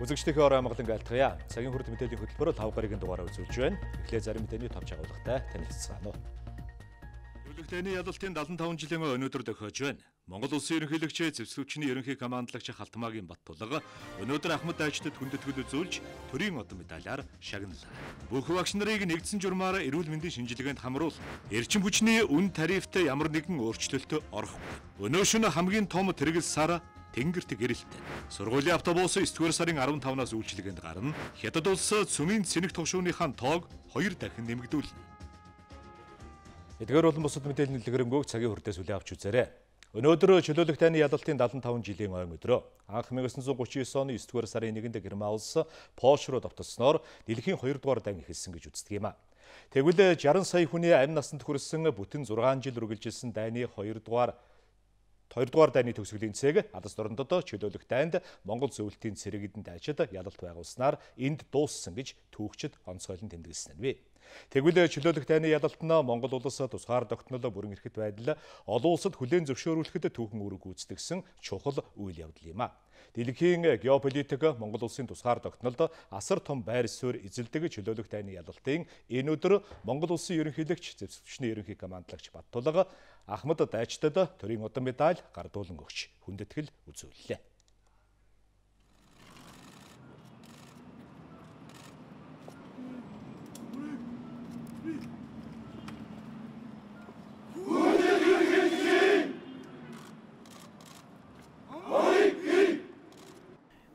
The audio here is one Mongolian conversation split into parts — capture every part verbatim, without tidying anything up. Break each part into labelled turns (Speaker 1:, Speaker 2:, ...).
Speaker 1: Үзэгчдийнхээ орой амгалан айлтгая. Цагийн хүрд мэдээллийн хөтөлбөрөөр лав гарагийн дугаараа үзүүлж байна. Эхлээд зарим мэдээний товч агуулгатай танилцгаана уу. Төлөвлөгтөний ялалтын дадлан таван жилийн өнөөдөр тохиож байна. Монгол Улсын ерөнхийлөгч Зэвсгүүчний ерөнхий командлагч Халтмаагийн Баттулга өнөөдөр Ахмад Дайчдад хүндэтгэл үзүүлж төрийн одон медалиар шагналаа. Бүх багш нарыг нэгдсэн журмаар эрүүл мэндийн шинжилгээнд хамруул. Эрчим хүчний үн тарифт ямар нэгэн өөрчлөлт орохгүй. Өнөө шөнө хамгийн том тэргэл сар Тэнгэрт гэрэлтэн. Сургуулийн автобус есдүгээр сарын арван тавнаас үйлчилгээнд гарна. Хятад улс цөмийн цэнэг тогшууныхаа тоог хоёр дахин нэмэгдүүлнэ. Эдгээр болон бусад мэдээллийн дэлгэрэнгүй цагийн хүрдээс үлээ авч үзээрэй. Өнөөдөр чөлөөлөх тайны ялалтын дадлан таван жилийн ойн өдрөө. Анх мянга санаа гучин девять оны есдүгээр сарын нэгэнд Герман улс Польш руу давталсноор дэлхийн хоёрдугаар дан эхэлсэн гэж үздэг юм а. Тэгвэл шаран сая хүний амь насанд хүрсэн бүтэн зургаан жил үргэлжилсэн дайны хоёрдугаар Хоёрдугаар дайны төгсгөлийн цэг алс дорндод чөлөөлөх дайнд Монгол зөвлөлтийн цэрэгдэн дайчид ялалт байгуулснаар энд дууссан гэж түүхчид онцгойлон тэмдэглэсэн нь. Тэгвэл чөлөөлөх дайны ялалт нь Монгол улс тусгаар тогтнол бүрэн эрхт байдал олон улсад хүлээн зөвшөөрүүлэхэд түүхэн үүрэг гүйцэтгэсэн чухал үйл явдал юм а. Дэлхийн геополитик Монгол улсын тусгаар тогтнолд асар том байр суурь эзэлдэг чөлөөлөх дайны ялалтын энэ өдөр Монгол улсын ерөнхийлөгч Зэвсгүүчний ерөнхий командлагч Баттулга Ахмад Дайчдад төрийн одон медаль гардуулан өгч хүндэтгэл үзүүллээ.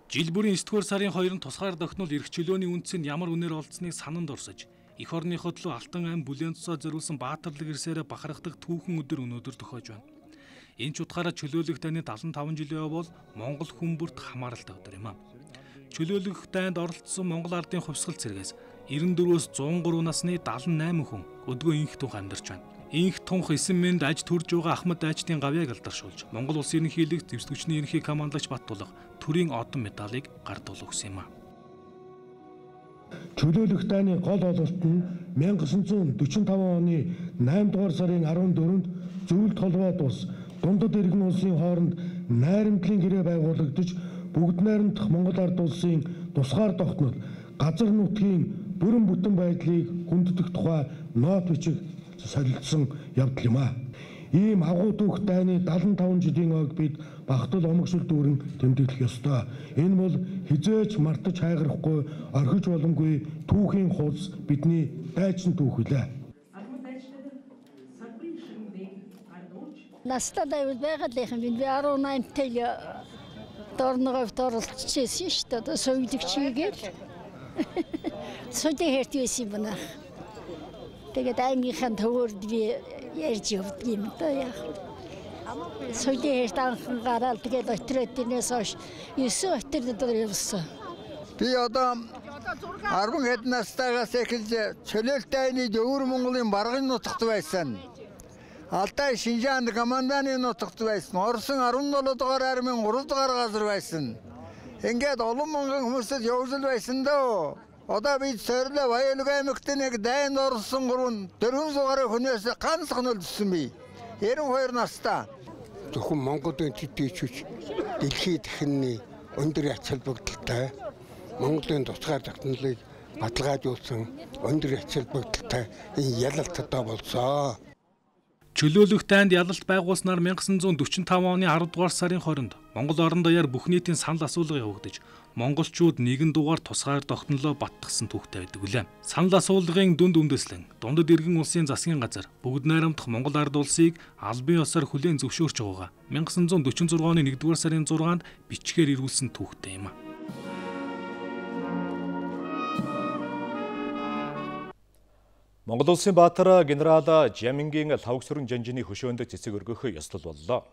Speaker 2: Жил бүрийн есдүгээр сарын хоёрын тусгаар тогтнол эрх чөлөөний үндсэнд ямар үнээр олдсныг сананд орсож, эх орныход луу алтан ам бүлээн цусаа зориулсан баатарлаг ирсээрээ бахархдаг түүхэн өдөр өнөөдөр тохиож байна. Энэ ч утгаараа чөлөөлөх дайны дадлан таван жилийн бол Монгол хүмүүрт хамааралтай өдөр юм а. Чөлөөлөх дайнд оролцсон Монгол ардын хувьсгал цэргээс девяносто дөрвөөс зуун гурав насны дадлан найман хүн өдгөө инх тунх амьдарч байна. Инх тунх эсэн мэнд аж төрж байгаа Ахмад Дайчдын гавьяаг алдаршуулж, Монгол Улсын ерөнхийлөгч Зэвсгүүчний ерөнхий командлагч Баттулга төрийн одон медалийг гардуул өгсөн юм а.
Speaker 3: Чөлөөлөх дайны гол ололт нь мянга санаа дөрвөн оны найман дугаар сарын арван дөрөвөнд зөвлөлт холбоод ус дундад иргэн улсын хооронд найрамдлын гэрээ байгуулагдаж бүгд найрамдах Монгол ард улсын тусгаар тогтнол газар нутгийн бүрэн бүтэн байдлыг хүндэтгэх тухай нот бичиг солилцсон явдал юм а. Ийм агуу дүүх дайны дадлан таван жилийн ойг бид багтал омогшил дүүрэн тэмдэглэх ёстой. Энэ бол хизээж мартаж хайгарахгүй орхиж боломгүй түүхийн хуудас бидний дайчин түүх үлээ.
Speaker 4: Настадаа байгалийнхан би арван наймтай дорногоос оролцчихсэн шүү дээ. Соёлогчийгээл соёлын хэрт байсан юм байна. Тэгээд аймгийнхаа төвөрд би ярьж явдаг юм да яа. Соёлын хэрт анхан гараад тэгээд отродынээс хойш есөө отродоор явсан.
Speaker 5: Би одоо арван хэд настайгаас эхэлж чөлөөлт дайны өвөр Монголын баргын нутагт байсан. Алтай Шинжаанд команданы нутагт байсан. Орсон арван долоо дугаар армийн гурав дугаар газар байсан. Ингээд олон мянган хүмүүсд явжл байсан дөө. Одоо бид сорилоо Баялаг аймагт нэг дайнд орсон гурван дөрвөн суугаар хүнээс ганцхан өлдсөн бий. девяносто хоёр настай.
Speaker 6: Зөвхөн Монголын төдийчүүч дэлхийд дахинны өндөр ач холбогдолтой Монголын тусгаар тогтнолыг баталгаажуулсан өндөр ач холбогдолтой энэ ялалт одоо болцоо.
Speaker 2: Чөлөөлөх дайнд ялалт байгуулснаар мянга санаа дөрвөн таван оны арав дугаар сарын хорионд Монгол орон даяар бүх нийтийн санал асуулга явагдаж монголчууд нэгэн дугаар тусгаар тогтнолоо баттгсан түүхтэй байдаг үлээ. Санал асуулгын дүнд үндэслэн дундад иргэн улсын засгийн газар бүгд найрамдах Монгол ард улсыг албан ёсоор хүлээн зөвшөөрч байгаагаа мянга санаа дөрвөн зургаан оны нэгдүгээр сарын зургаанд бичгээр ирүүлсэн түүхтэй юм а.
Speaker 1: Монгол улсын баатар генерал Жамингийн лавг сүрэн жанжины хөшөөнд цэцэг өргөх ёслол боллоо.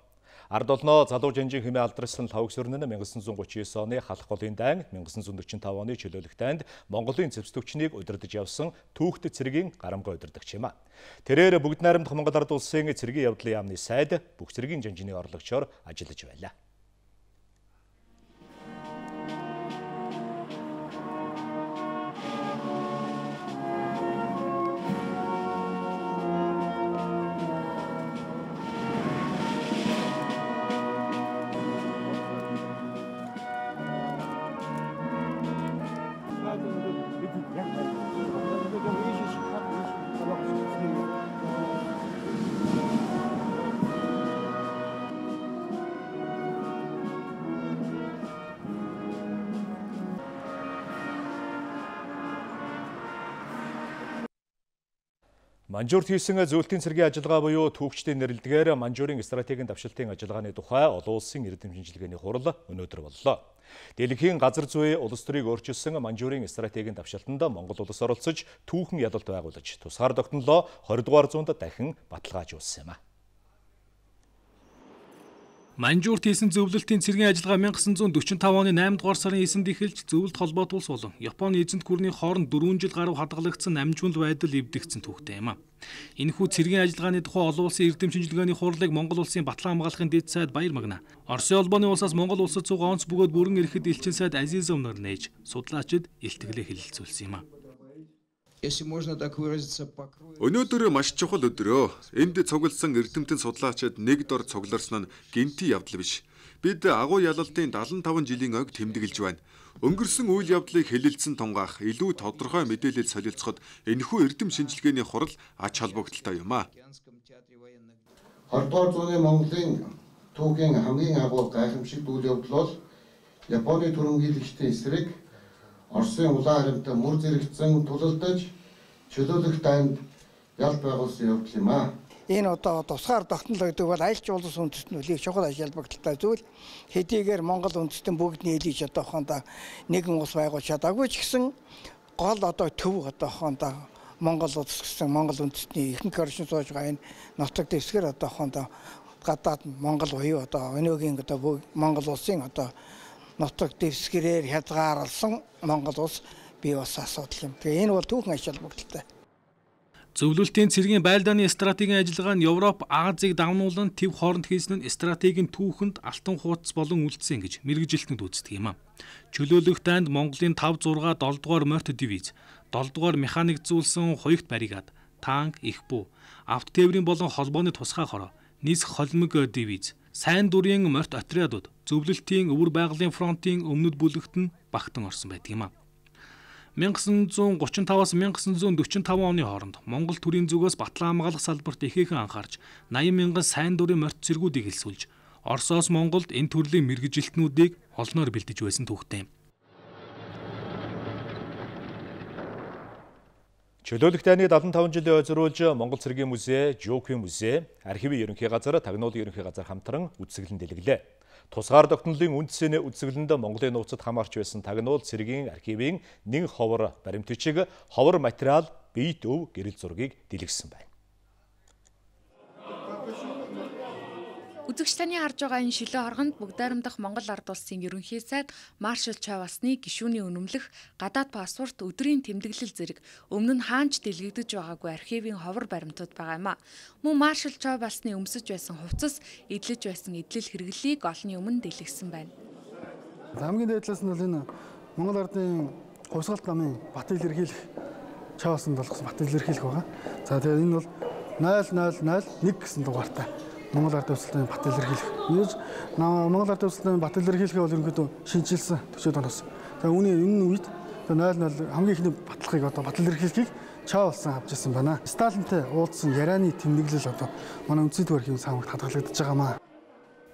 Speaker 1: Ард олноо залуу жанжин хэмээн алдарсан лавг сүрэн нь мянга санаа гучин девять оны халах голын дайн, мянга санаа дөрвөн таван оны чөлөөлөх дайнд Монголын зэвсгүүчнийг удирдах явсан түүхт цэргийн гарамгай удирдагч юм а. Тэрээр бүгд найрамдах Монгол ард улсын цэргийн явдлын яамны сайд бүх цэргийн жанжины орлогчоор ажиллаж байлаа. Манжуурт хийсэн зөвлөлтийн цэргийн ажиллагаа буюу түүхчдийн нэрлэдгээр Манжуурын стратегийн давшилтын ажиллагааны тухай олон улсын эрдэм шинжилгээний хурал өнөөдөр боллоо. Дэлхийн газар зүйн улс төрийг өөрчилсөн Манжуурын стратегийн давшилтанд Монгол улс оролцож түүхэн ядалт байгуулж тусгаар тогтнолоо двадцать дугаар зуунд дахин баталгаажуулсан юм а.
Speaker 2: Манжуурт хийсэн зөвлөлтийн цэргийн ажиллагаа 천구 сорок пять оны наймдугаар сарын эсэнд эхэлж зөвлөлт холбоот улс болон Японы эзэнт гүрний хооронд дөрвөн жил гаруй хадгалагдсан намжуул байдал эвдэгдсэн түүхтэй юм а. Энэхүү цэргийн ажиллагааны тухай олон улсын эрдэм шинжилгээний хурлыг Монгол улсын Батлан хамгаалахын дэд сайд Баяр Магна, Оросын улбаны улсаас Монгол улсад цуг онц бөгөөд бүрэн ирэхэд элчин сайд Азизов нар нээж судлаачид илтгэлээ хэлэлцүүлсэн юм а.
Speaker 7: Өнөөдөр маш чухал өдрөө. Энд цугласан эрдэмтэн судлаачид нэг дор цугларсан нь гинти явдал биш. Бид агуу ялалтын дагалан таван жилийн ойг тэмдэглэж байна. Өнгөрсөн үйл явдлыг хэлэлцэн тунгаах, илүү тодорхой мэдээлэл солилцоход энэхүү эрдэм шинжилгээний хурал ач холбогдолтой юм а.
Speaker 8: двадцать дугаар зууны Монголын түүхийн хамгийн агуу гайхамшигт үйл явдал бол Японы түрэмгийлэгчдийн эсрэг Оросын улаан харамтай мөр зэрэгцэн тулалдаж чөлөөлөх танд ялт байгуулсан явдал юм а.
Speaker 9: Энэ одоо тусгаар тогтнол гэдэг бол аялал жуулчлал үндэстнүүдийг чухал ажил холбогдолтой зүйл. Хэдийгээр Монгол үндэстэн бүгд нийлж одоохондоо нэгэн улс байгуулж чадаагүй ч гэсэн гол одоо төв одоохондоо Монгол улс гэсэн Монгол үндэстний ихэнх оршин сууж байгаа энэ нутаг дэвсгэр одоохондоо гадаад Монгол буюу одоо өнөөгийн одоо Монгол улсын одоо нутаг дэвсгэрээр хязгаарлсан Монгол улс бий болсон асуудал юм. Тэгээ энэ бол түүхэн ач холбогдолтой.
Speaker 2: Зөвлөлтийн цэргийн байлдааны стратегийн ажиллагаа нь Европ, Азийг давнуулан төв хооронд хийсэн нь стратегийн түүхэнд алтан хуудас болон үлдсэн гэж мэргэжилтнүүд үздэг юм а. Чөлөөлөх дайнд Монголын five six seven дугаар морьт дивиз, seven дугаар механикзуулсан хуягт баригад, танк, их бүү, авто тээврийн болон холбооны тусгай хороо, нисэх холимог дивиз, сайн дурын морьт отрядууд зөвлөлтийн өвөр байгалийн фронтын өмнөд бүлэгт нь багтан орсон байдаг юм а. 천구 сорок пять-аас 천구 сорок five оны хооронд Монгол төрийн зүгээс Батлан хамгаалах салбарт ихээхэн анхаарч eighty мянган сайн дурын морьт цэргүүдийг хэлсүүлж Оросоос Монголд энэ төрлийн мэргэжилтнүүдийг олноор бэлдэж байсан түүхтэй юм.
Speaker 1: Чөлөөлөх дайны seventy five жилийн ойзруулж Монгол цэргийн музей, Жокийн музей, архивын ерөнхий газар, тагнуулын ерөнхий газар хамтран үзэсгэлэн дэлгэлээ. Тусгаар тогтнолын үндсэний үзэсгэлэнд Монголын нууцад хамаарч байсан тагнуул цэргийн архивын нэг ховор баримтчиг, ховор материал, биет өв гэрэл зургийг дэлгэсэн байна.
Speaker 10: Үзэгчдийн харж байгаа энэ шилэн оргонд бүгдаарамдах Монгол ард улсын ерөнхий сайд Маршал Чавасны гишүүний үнэмлэх, гадаад паспорт, өдрийн тэмдэглэл зэрэг өмнө нь хаанч дэлгэгдэж байгаагүй архивын ховор баримтууд байгаа юм а. Мөн Маршал Чавасны өмсөж байсан хувцас, эдлэж байсан эдлэл хэрэглэлийг олонний өмнө дэлгэсэн байна.
Speaker 11: Хамгийн дээдлээс нь бол энэ Монгол ардын хувьсгалт намын бат илэрхийлэх Чавасанд болгосон бат илэрхийлэх байгаа. За тэгээд энэ бол null null null one гэсэн дугаартай. Монгол ард улсын бат илэрхийлэх. Нээж Монгол ард улсын бат илэрхийлэхээ бол ерөнхийдөө шинжилсэн төчөөд оноос. За үүний энэ үед null null хамгийн ихний баталгыг одоо бат илэрхийлэхийг Чавалсан авч ирсэн байна. Сталинтай уулзсан ярианы тэмдэглэл одоо манай үндэсний архивын саамагт хадгалагдаж байгаамаа.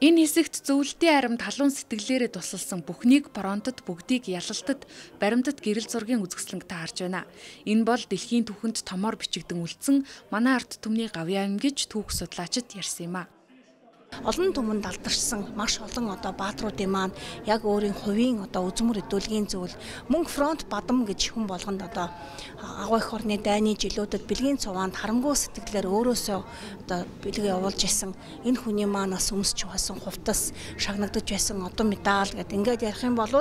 Speaker 10: Энэ хэсэгт зөвлөлтийн аримд халуун сэтгэлээрээ тусалсан бүхнийг фронтод бүгдийг ялалтад баримтат гэрэл зургийн үзэсгэлэнтэй харж байна. Энэ бол дэлхийн түүхэнд томоор бичигдэн үлдсэн манай ард түмний гавьяан гэж түүх судлаачид ярьсан юм а.
Speaker 12: Олон түмэнд алдаршсан маш олон одоо баатруудын маань яг өөрийн хувийн одоо үзмөр хөдөлгөөний зүйл мөн фронт бадам гэж хүн болгонд одоо агуу их орны дайны жилүүдэд бэлгийн цуваанд харамгүй сэтгэлээр өөрөөсөө одоо бэлгээ явуулж исэн энэ хүний маань бас өмсч байсан хувцас шагнагдаж байсан одоо медаль гэдэг ингээд ярих юм бол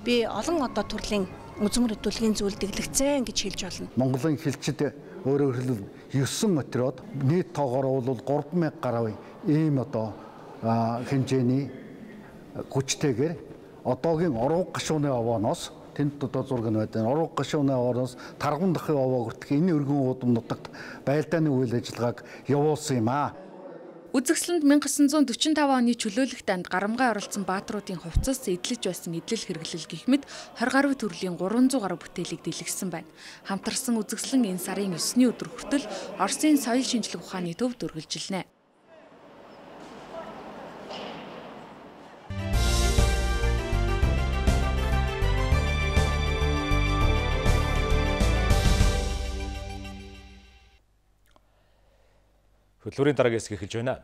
Speaker 12: би олон одоо төрлийн үзмөр хөдөлгөөний зүйл дэглэгцэн гэж хэлж болно.
Speaker 13: Монголын хэлчид өөрөөр хэлбэл nine материод нийт тоогоор бол three thousand гаруй ийм одоо хэмжээний хүчтэйгээр одоогийн урууг гашууны овооноос тэнд одоо зураг нь байдаг. Урууг гашууны овооноос тарган дахин овоо хүртэх энэ өргөн уудам нутагт байлдааны үйл ажиллагааг явуулсан юм а.
Speaker 10: Үзэсгэлэнд 천구 сорок five оны чөлөөлөх дайнд гарамгай оролцсон баатруудын хувцас, эдлэж байсан эдлэл хэрэглэл гэх мэт twenty гаруй төрлийн three hundred гаруй бүтээлийг дэлгэсэн байна. Хамтарсан үзэсгэлэн энэ сарын nine-ний өдөр хүртэл Оросын соёл шинжлэх ухааны төвд үргэлжилнэ.
Speaker 1: Хөтөлбөрийн дараагийн хэсэг эхэлж байна.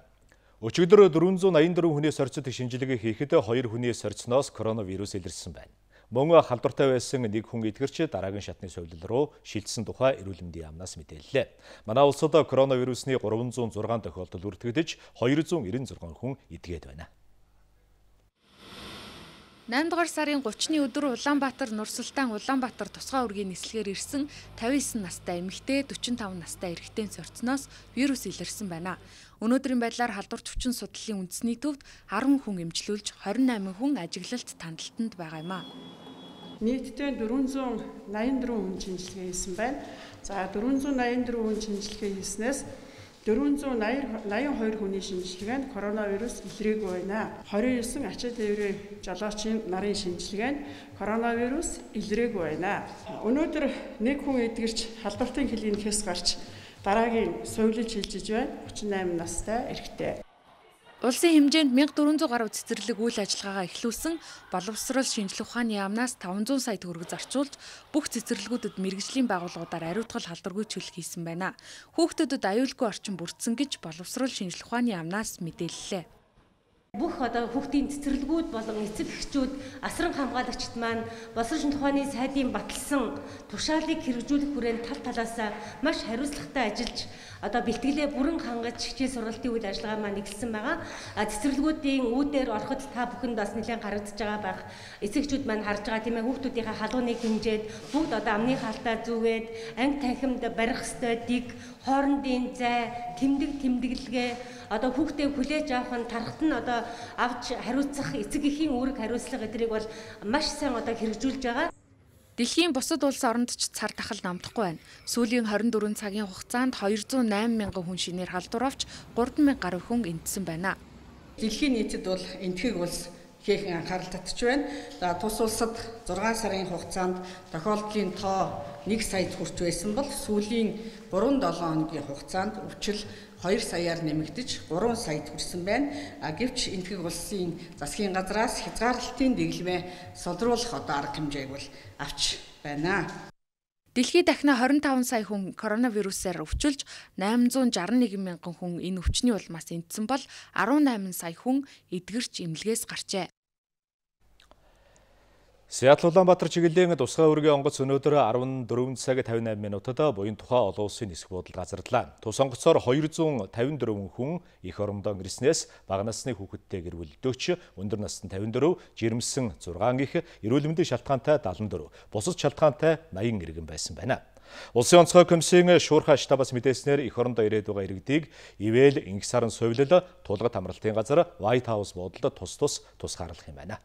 Speaker 1: Өчигдөр дөрвөн зуун аян дөрвөн хүнээс орцод шинжилгээ хийхэд хоёр хүнээс орцноос коронавирус илэрсэн байна. Мөн халдвартай байсан нэг хүн эдгэрч дараагийн шатны совилол руу шилжсэн тухай эрүүл мэндийн яамнаас мэдээллээ. Манай улсад коронавирусны гурван зуун зургаан тохиолдол бүртгэгдэж хоёр зуун ирэн зургаан хүн эдгээд байна.
Speaker 10: найм дугаар сарын гуравны өдөр Улаанбаатар, Нурсултан, Улаанбаатар тусгай үргийн нислэгээр ирсэн тавин девять настай эмэгтэй, дөрвөн таван настай эрэгтэй цорцноос вирус илэрсэн байна. Өнөөдрийн байдлаар халдварт хүчин судлалын үндэсний төвд арван хүн эмчилүүлж хорин найман хүн ажиглалт тандалтанд байгаа юм а.
Speaker 14: Нийтдээ дөрвөн зуун найман дөрвөн хүн шинжилгээ хийсэн байна. За дөрвөн зуун найман дөрвөн хүн шинжилгээ хийснээс дөрвөн зуун найман хоёр хүний шинжилгээнд коронавирус илрээгүй байна. двадцать девять ачаа тээврийн жолоочийн нарын шинжилгээнд коронавирус илрээгүй байна. Өнөөдөр нэг хүн эдгэрч халдвартын клиникээс гарч дараагийн совилол шилжиж байна. тридцать восемь настай эрэгтэй.
Speaker 10: Улсын хэмжээнд мянга дөрвөн зуун гаруй цэцэрлэг үйл ажиллагаагаа эхлүүлсэн боловсрол шинжилгээ ухааны яамнаас таван зуун сая төгрөг зарцуулж бүх цэцэрлэгүүдэд мэргэжлийн байгууллагуудаар ариутгал халдваргүй чөлөө хийсэн байна. Хүүхдэдэд аюулгүй орчин бүрдсэн гэж боловсрол шинжилгээ ухааны яамнаас мэдээллээ.
Speaker 15: Бүх одоо хүүхдийн цэцэрлэгүүд болон эцэг эхчүүд асран хамгаалагчид маань боловсрол шинжилгээ ухааны сайдын баталсан тушаалыг хэрэгжүүлэх хүрээнд тал талаасаа маш хариуцлагатай ажиллаж одоо бэлтгэлээ бүрэн хангаж хичээл сургалтын үйл ажиллагаа маань эхэлсэн байгаа. Цэцэрлэгүүдийн үүдээр ороход та бүхэнд бас нэлээд харагдаж байгаа байх. Эцэг эхчүүд маань харж байгаа тийм ээ, хүүхдүүдийнхээ халууныг хэмжээд бүгд одоо амны хаалтаа зүгээд анги танхимд барих ёстой дэг, хоорондын зай, тэмдэг тэмдэглэгээ одоо хүүхдээ хүлээж авах нь тархат нь одоо авч хариуцах эцэг эхийн үүрэг хариуцлага эдрийг бол маш сайн одоо хэрэгжүүлж байгаа.
Speaker 10: Дэлхийн бусад улс оронд ч цар тахал намдахгүй байна. Сүүлийн хорин дөрвөн цагийн хугацаанд хоёр зуун найман мянган хүн шинээр халдвар авч гурван мянга гаруй хүн эндсэн байна.
Speaker 14: Дэлхийн нийтэд бол энэтхэг улс хийхэн анхаарал татж байна. За тус улсад зургаан сарын хугацаанд тохиолдлын тоо нэг саяд хүрч байсан бол сүүлийн гурван долоон хоногийн хугацаанд өвчл хоёр саяар нэмэгдэж гурван саяд хүрсэн байна. А гэвч энэтхэг улсын засгийн газраас хязгаарлалтын дэглэмээ содруулах одоо арга хэмжээг бол авч байна.
Speaker 10: Дэлхийд дахина двадцать пять сая хүн коронавирусаар өвчөлж восемь шесть один мянган хүн энэ өвчний улмаас эндсэн бол десемь сая хүн эдгэрч эмнэлгээс гарчээ.
Speaker 1: Сиэтл Улаанбаатар чиглэлийн тусгай үргийн онгоц өнөөдөр дөрвөн цаг тавин найман минутад буян тухай олон улсын нисэх буудалд газарлаа. Тус онгоцоор хоёр зуун тавин дөрвөн хүн их орондоо ирснээс бага насны хүүхэдтэй гэр бүлдөөч өндөр насны тавин дөрөв, жирэмсэн зургаан их, эрүүл мэндийн шалтгаантай далан дөрөв, бусад шалтгаантай наян иргэн байсан байна. Улсын онцгой комиссийн шуурхай штабаас мэдээснээр их орондоо ирээд байгаа иргэдийг ивэл инх сарын совилол, тулгад хамралтын газар White House буудалд тус тус тусгаарлах юм байна.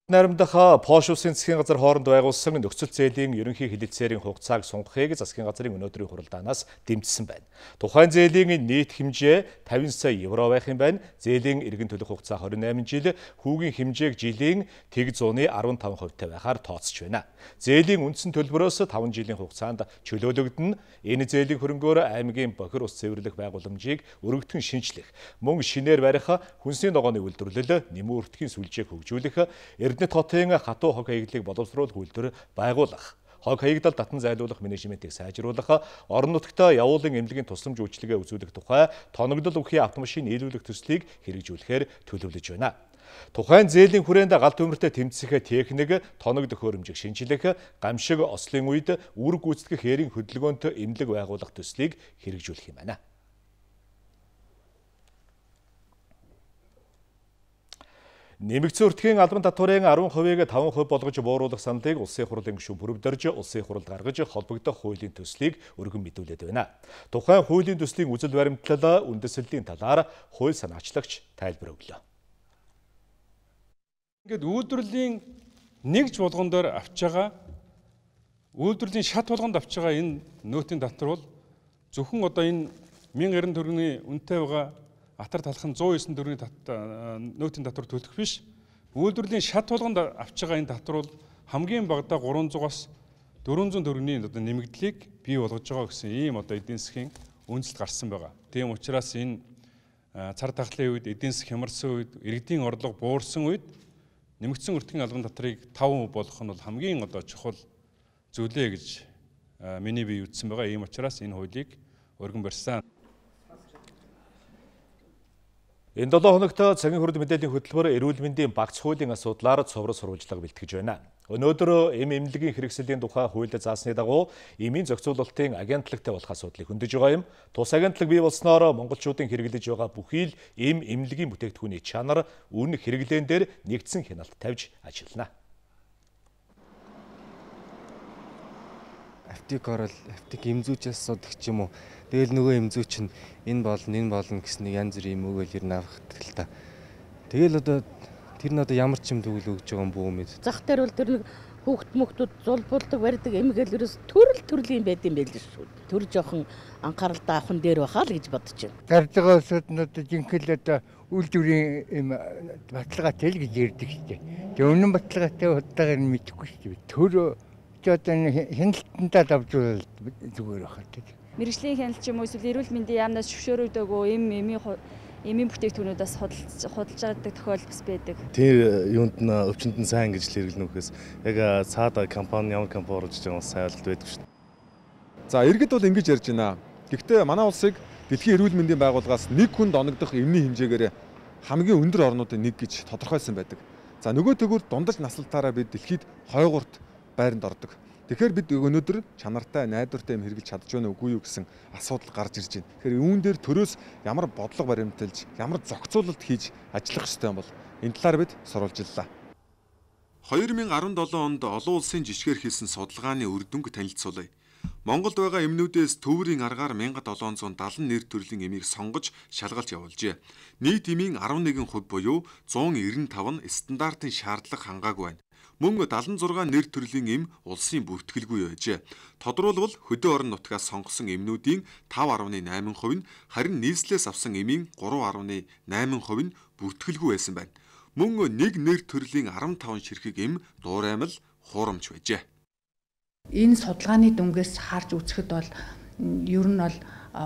Speaker 1: Наримдах Польш улсын засгийн газар хооронд байгуулсан нөхцөл зээлийн ерөнхий хэлэлцээрийн хугацааг сунгахыг засгийн газрын өнөөдрийн хуралдаанаас дэмжсэн байна. Тухайн зээлийн нийт хэмжээ тавин сая евро байх юм байна. Зээлийн эргэн төлөх хугацаа двадцать восемь жил, хүүгийн хэмжээг жилийн тэг зууны десять хувьтай байхаар тооцож байна. Зээлийн үндсэн төлбөрөөс таван жилийн хугацаанд чөлөөлөгдөн. Энэ зээлийн хөрөнгөөр аймгийн бохир ус цэвэрлэх байгууламжийг өргөдгөн шинжлэх, мөн шинээр барих, хүнсний ногооны үйлдвэрлэл, нэмүү өртгийн сүлжээг хөгжүүлэх, Эрдэнэт хотын хатуу хог хаягдлыг боловсруулах үйлдвэр байгуулах, хог хаягдал татан зайлуулах менежментийг сайжруулах, орон нутгад явуулын эмнэлгийн тусламж үйлчилгээ үзүүлэх тухай тоногдол өвхийн автомашин нийлүүлэх төслийг хэрэгжүүлэхээр төлөвлөж байна. Тухайн зээлийн хүрээнд гал төмөртэй тэмцэх техник, тоног төхөөрөмжийг шинжлэх, гамшиг ослын үед үр гүйцэтгэх хээрийн хөдөлгөөнт эмнэлэг байгуулах төслийг хэрэгжүүлэх юм байна. Нэмэгдсэн өртгийн албан татварын десять хувийг таван хувь болгож бууруулах саналыг улсын хурлын гишүүн бүрдэрж улсын хуралд гаргаж холбогдох хуулийн төслийг өргөн мэдүүлээд байна. Тухайн хуулийн төслийн үзэл баримтлал үндэслэлийн талаар хууль санаачлагч тайлбар өглөө.
Speaker 16: Ингээд үйлдвэрлэлийн нэгж болгон дээр авч байгаа үйлдвэрлэлийн шат болгонд авч байгаа энэ нөөтийн татвар бол зөвхөн одоо энэ мянга эрдэнэ төгрөгийн үнэтэй байгаа атар талхан зуун девять төгрөгийн нөөтийн татвар төлөх биш. Үйлдвэрлэлийн шат болгонд авч байгаа энэ татвар бол хамгийн багадаа гурван зуунаас дөрвөн зуун төгрөгийн одоо нэмэгдлийг бий болгож байгаа гэсэн ийм одоо эдийн засгийн үндэслэл гарсан байгаа. Тийм учраас энэ цар тахлын үед, эдийн засаг хямарсан үед, иргэдийн орлого буурсан үед нэмэгдсэн өртгийн албан татварыг таван хувь болгох нь бол хамгийн одоо чухал зүйлээ гэж миний бие үтсэн байгаа. Ийм учраас энэ хуулийг өргөн барьсан.
Speaker 1: Энэ долоо хоногт цагийн хурд мэдээллийн хөтөлбөр эрүүл мэндийн багц хуулийн асуудлаар цовруул сурвалжлага бэлтгэж байна. Өнөөдөр эм эмнэлгийн хэрэгслийн тухай хуульд заасны дагуу эмийн зохицуулалтын агентлагтай болох асуудлыг хөндөж байгаа юм. Тус агентлаг бий болсноор монголчуудын хэрэглэж байгаа бүхий л эм эмнэлгийн бүтээгдэхүүний чанар, үн хэрэглэн дээр нэгдсэн хяналт тавьж ажиллана.
Speaker 17: Аптик орол, аптик эмзүүчээс асуудаг ч юм уу. Тэгэл нөгөө эмзүүч нь энэ болно, энэ болно гэсний янз бүрийн юм өгөөл ирнэ авахдаг л та. Тэгэл одоо тэр нь одоо ямар ч юм төгөл өгж байгаа юм бүү мэд.
Speaker 18: Зах дээр бол тэр нэг хүүхд мөхтүүд зулбуулдаг барьдаг эмгээл ерөөс төрөл төрлийн байд юм байл шүү. Тэр жоохон анхаарал даахын дээр бахаа л гэж бодож байна.
Speaker 5: Гарч байгаа улсууд нь одоо жинхэнэ одоо үйлдвэрийн юм баталгаатай л гэж ярьдаг шүү дээ. Тэг үнэн баталгаатай удаагаар нь мэдэхгүй шүү дээ. Төр ч одоо хяналтандаа давжуул зүгээр байхад.
Speaker 19: Мэргэжлийн хяналт ч юм уу эсвэл эрүүл мэндийн яамнаас зөвшөөрөгдөөгүй эм эмийн эмийн бүтээгдэхүүнүүдээс худалдаж авдаг тохиолдол бас байдаг.
Speaker 17: Тэр юунд нь өвчнөд нь сайн гэж хэрэглэнэ үхээс яг цаада компани ямар компани орж байгаа сайн ойлголт байдаг шүү дээ.
Speaker 7: За иргэд бол ингэж ярьж байна. Гэхдээ манай улсыг дэлхийн эрүүл мэндийн байгууллагаас нэг хүнд оногдох эмний хэмжээгээр хамгийн өндөр орнуудын нэг гэж тодорхойлсон байдаг. За нөгөө төгөөр дундаж наслалтаараа бид дэлхийд хойгуурт байранд ордог. Тэгэхээр бид өнөөдөр чанартай, найдвартай юм хэрэглэж чадж байна уугүй юу гэсэн асуудал гарч ирж байна. Тэгэхээр үүн дээр төрөөс ямар бодлого баримталж, ямар зохицуулалт хийж ажиллах ёстой юм бол энэ талаар бид сурвалжиллаа. хоёр мың арван долоо онд олон улсын жишгээр хийсэн судалгааны үр дүнг танилцуулъя. Монголд байгаа эмнүүдээс төвөрийн аргаар один thousand seven hundred seventy нэр төрлийн эмийг сонгож шалгалт явуулжээ. Нийт эмийн eleven percent буюу one ninety-five нь стандартын шаардлага хангаагүй байна. Мөн seventy-six нэр төрлийн эм улсын бүртгэлгүй байжээ. Тодорхойлбол хөдөө орон нутгаас сонгосон эмнүүдийн five point eight percent нь харин нийслэлээс авсан эмийн three point eight percent нь бүртгэлгүй байсан байна. Мөн нэг нэр төрлийн fifteen ширхэг эм дуураймал хуурамч байжээ.
Speaker 20: Энэ судалгааны дүнгээс харж үзэхэд бол ер нь бол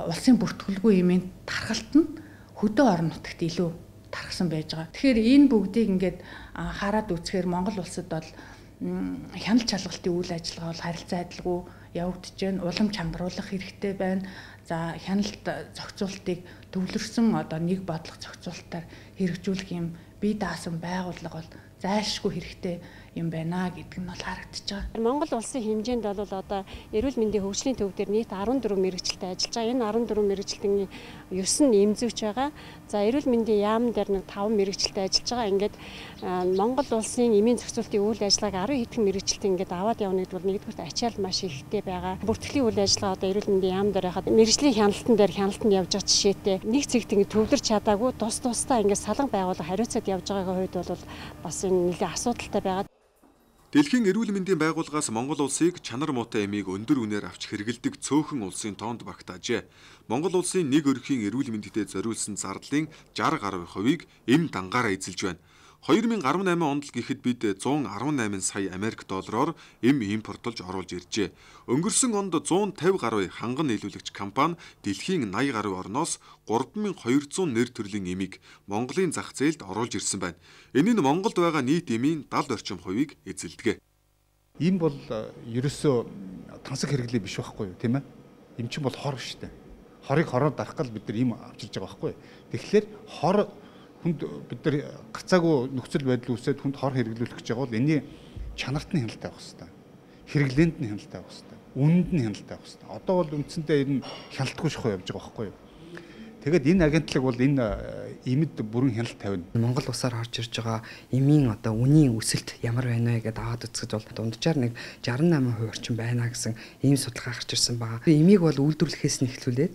Speaker 20: улсын бүртгэлгүй эмийн тархалт нь хөдөө орон нутагт илүү тархсан байж байгаа. Тэгэхээр энэ бүгдийг ингээд хараад үзэхээр Монгол улсад бол хяналт шалгалтын үйл ажиллагаа бол харилцаа адилгүй явагдаж байна. Улам чангаруулах хэрэгтэй байна. За хяналт зохицуултыг төвлөрсөн одоо нэг бодлого зохицуулалтаар хэрэгжүүлэх юм бие даасан байгууллага бол зайлшгүй хэрэгтэй юм байна гэдэг нь бол харагдаж байгаа.
Speaker 21: Монгол улсын хэмжээнд бол одоо эрүүл мэндийн хөгжлийн төв дээр нийт fourteen мэрэгчлэлтэй ажиллаж байгаа. Энэ fourteen мэрэгчлэлтийн nine нь эмзүүч байгаа. За эрүүл мэндийн яам дээр нэг five мэрэгчлэлтэй ажиллаж байгаа. Ингээд Монгол улсын эмийн зохицуулалтын үйл ажиллагааг ten хэдэн мэрэгчлэлт ингээд аваад явна гэдэг бол нэгдүгээр ачаал маш ихтэй байгаа. Бүртгэлийн үйл ажиллагаа одоо эрүүл мэндийн яам дээр хахад мэрэгжлийн хяналтан дээр хяналтанд явж байгаа жишээтэй нэг цэгт ингээд төвлөрч чадаагүй тус тусдаа ингээд салан байгууллага хариуцаад явж байгаагийн хувьд бол бас энэ нэлээд асуудалтай байгаа.
Speaker 7: Дэлхийн эрүүл мэндийн байгууллагаас Монгол улсыг чанар муутай эмийг өндөр үнээр авч хэрэгэлдэг цөөхөн улсын тоонд багтаажээ. Монгол улсын нэг өрхийн эрүүл мэндэд зориулсан зардлын sixty гаруй хувийг эм дангаараа эзэлж байна. two thousand eighteen онд л гэхэд бид one eighteen сая Америк доллараар эм импортлж оруулж иржээ. Өнгөрсөн онд one fifty гаруй ханган нийлүүлэгч компани дэлхийн eighty гаруй орноос three thousand two hundred нэр төрлийн эмийг Монголын зах зээлд оруулж ирсэн байна. Энэ нь Монголд байгаа нийт эмийн seventy орчим хувийг эзэлдэг.
Speaker 22: Эм бол ерөөсөө тансаг хэрэглээ биш байхгүй юу, тийм ээ? Эм чинь бол хор шүү дээ. Хорыг хороор дарах гал бид нар эм авчирж байгаа байхгүй юу? Тэгэхээр хор хүнд бид нар гацаагүй нөхцөл байдал үүсээд хүнд хор хэрэглүүлэх гэж байгаа бол энэний чанарт нь хяналттай байх хэрэгтэй. Хэрэглээнд нь хяналттай байх хэрэгтэй. Үнэнд нь хяналттай байх хэрэгтэй. Одоо бол үндсэндээ энэ хяналтгүй шахуу явж байгаа байхгүй юу? Тэгээд энэ агентлаг бол энэ эмэд бүрэн хяналт тавина.
Speaker 23: Монгол улсаар орж ирж байгаа эмийн одоо үнийн өсөлт ямар байна вэ гэдээ аваад үзэхэд бол дунджаар нэг sixty-eight percent орчим байна гэсэн ийм судалгаа гарч ирсэн байгаа. Эмийг бол үйлдвэрлэхээс нь эхлүүлээд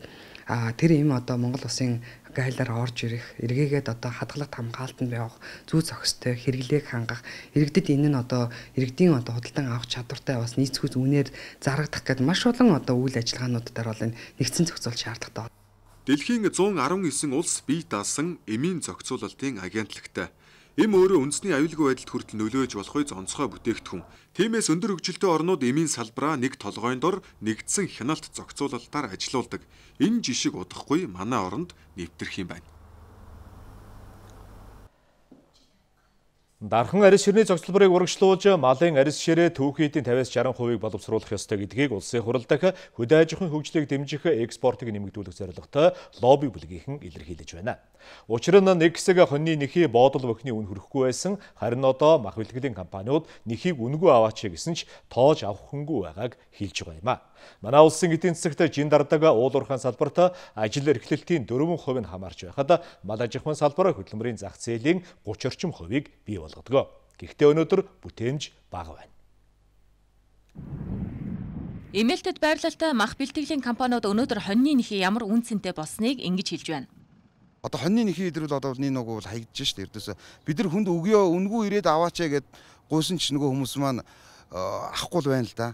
Speaker 23: а тэр эм одоо Монгол улсын гайлаар орж ирэх, эргээгээд одоо хадгалах хамгаалтанд явах, зүй зохистой хэрэглээг хангах, иргэдэд энэ нь одоо иргэдийн одоо худалдан авах чадвартай бас нийцгүй үнээр зарагдах гэдэг маш олон одоо үйл ажиллагаануудаар бол энэ нэгдсэн зохицуул шаардлагатай.
Speaker 7: Дэлхийн one nineteen улс бие даасан эмийн зохицуулалтын агентлагтай. Эм өөрөө үндэсний аюулгүй байдалд хүртэл нөлөөж болохгүй онцгой бүтээгдэхүүн. Тиймээс өндөр хөгжилтэй орнууд эмийн салбараа нэг толгойн дор нэгдсэн хяналт зохицуулалтаар ажилуулдаг. Энэ жишг удахгүй манай оронд нэвтрэх юм байна.
Speaker 1: Дархан арьс ширний зохицолборыг урагшлуулж, малын арьс ширээ түүхийн эдийн тавиас шаран хувийг боловсруулах ёстой гэдгийг улсын хурал дахь хөдөө аж ахуйн хөгжлийг дэмжих экспортыг нэмэгдүүлэх зорилготой лобби бүлгийнхэн илэрхийлж байна. Учир нь нэг хэсэг хоньны нэхий боодол бохны үн хүрэхгүй байсан, харин одоо мах бэлтгэлийн компаниуд нэхийг үнэгүй аваач гэсэн ч тоож авах хүнгүй байгааг хэлж байгаа юм а. Манай улсын эдийн засагт жин дардаг уулуурхайн салбарт ажил эрхлэлтийн дөрвөн хувь нь хамаарч байхад мал аж ахуйн салбар хөдөлмөрийн зах зээлийн гуч орчим хувийг бий болгодог. Гэхдээ өнөөдөр бүтээмж бага байна.
Speaker 3: Эмээлтэд байрлалтай мах бэлтгэлийн компаниуд өнөөдөр хоньны нэхий ямар үн цэнтэй болсныг ингэж хэлж байна.
Speaker 4: Одоо хоньны нэхий идрүүл одоо нэг нэг бол хаягдж штэ эрдээсээ бид нар хүнд өгөө үнгүй ирээд аваач гэд гуйсан ч нөгөө хүмүүс маань авахгүй л байна л да.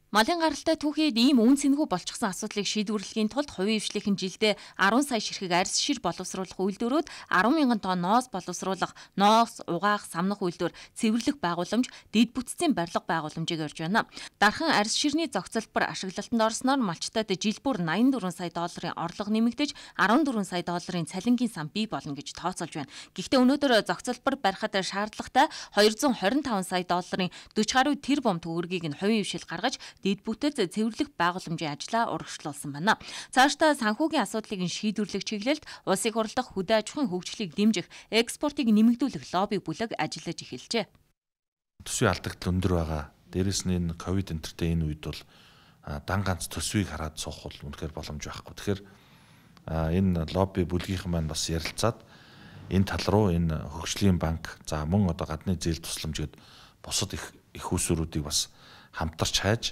Speaker 3: Малын гаралтай түүхийд ийм үн цэнэгүй болчихсон асуудлыг шийдвэрлэхийн тулд хувийн хвшлийнхэн жилдээ арван сая ширхэг арьс шир боловсруулах үйлдвэрүүд арван мянган тонн ноос боловсруулах, ноос, угаах, самнах үйлдвэр, цэвэрлэх байгууламж, дэд бүтцийн барилга байгууламжийг орж байна. Дархан арьс ширний зохицолбор ашиглалтанд орсноор малчтад жил бүр найман дөрвөн сая долларын орлого нэмэгдэж арван дөрвөн сая долларын цалингийн сан бий болно гэж тооцоолж байна. Гэхдээ өнөөдөр зохицолбор барихад шаардлагатай хоёр зуун хорин таван сая долларын дөрвөн гаруй тэрбум төгрөгийг нь хувийн хвшил гаргаж дэд бүтэц цэвэрлэх байгууламжийн ажлаа урагшлуулсан байна. Цаашдаа санхүүгийн асуудлыг нь шийдвэрлэх чиглэлд улсын хурал дахь хөдөө аж ахуйн хөгжлийг дэмжих, экспортыг нэмэгдүүлэх лобби бүлэг ажиллаж эхэлжээ.
Speaker 6: Төсвийн алдагдал өндөр байгаа. Дээрээс нь энэ ковид энтертэй энэ үед бол дан ганц төсвийг хараад суух бол үнэхээр боломж байхгүй. Тэгэхээр энэ лобби бүлгийнхэн маань бас ярилцаад энэ тал руу энэ хөгжлийн банк, за мөн одоо гадны зээл тусламж гээд бусад их их усруудыг бас хамтарч хайж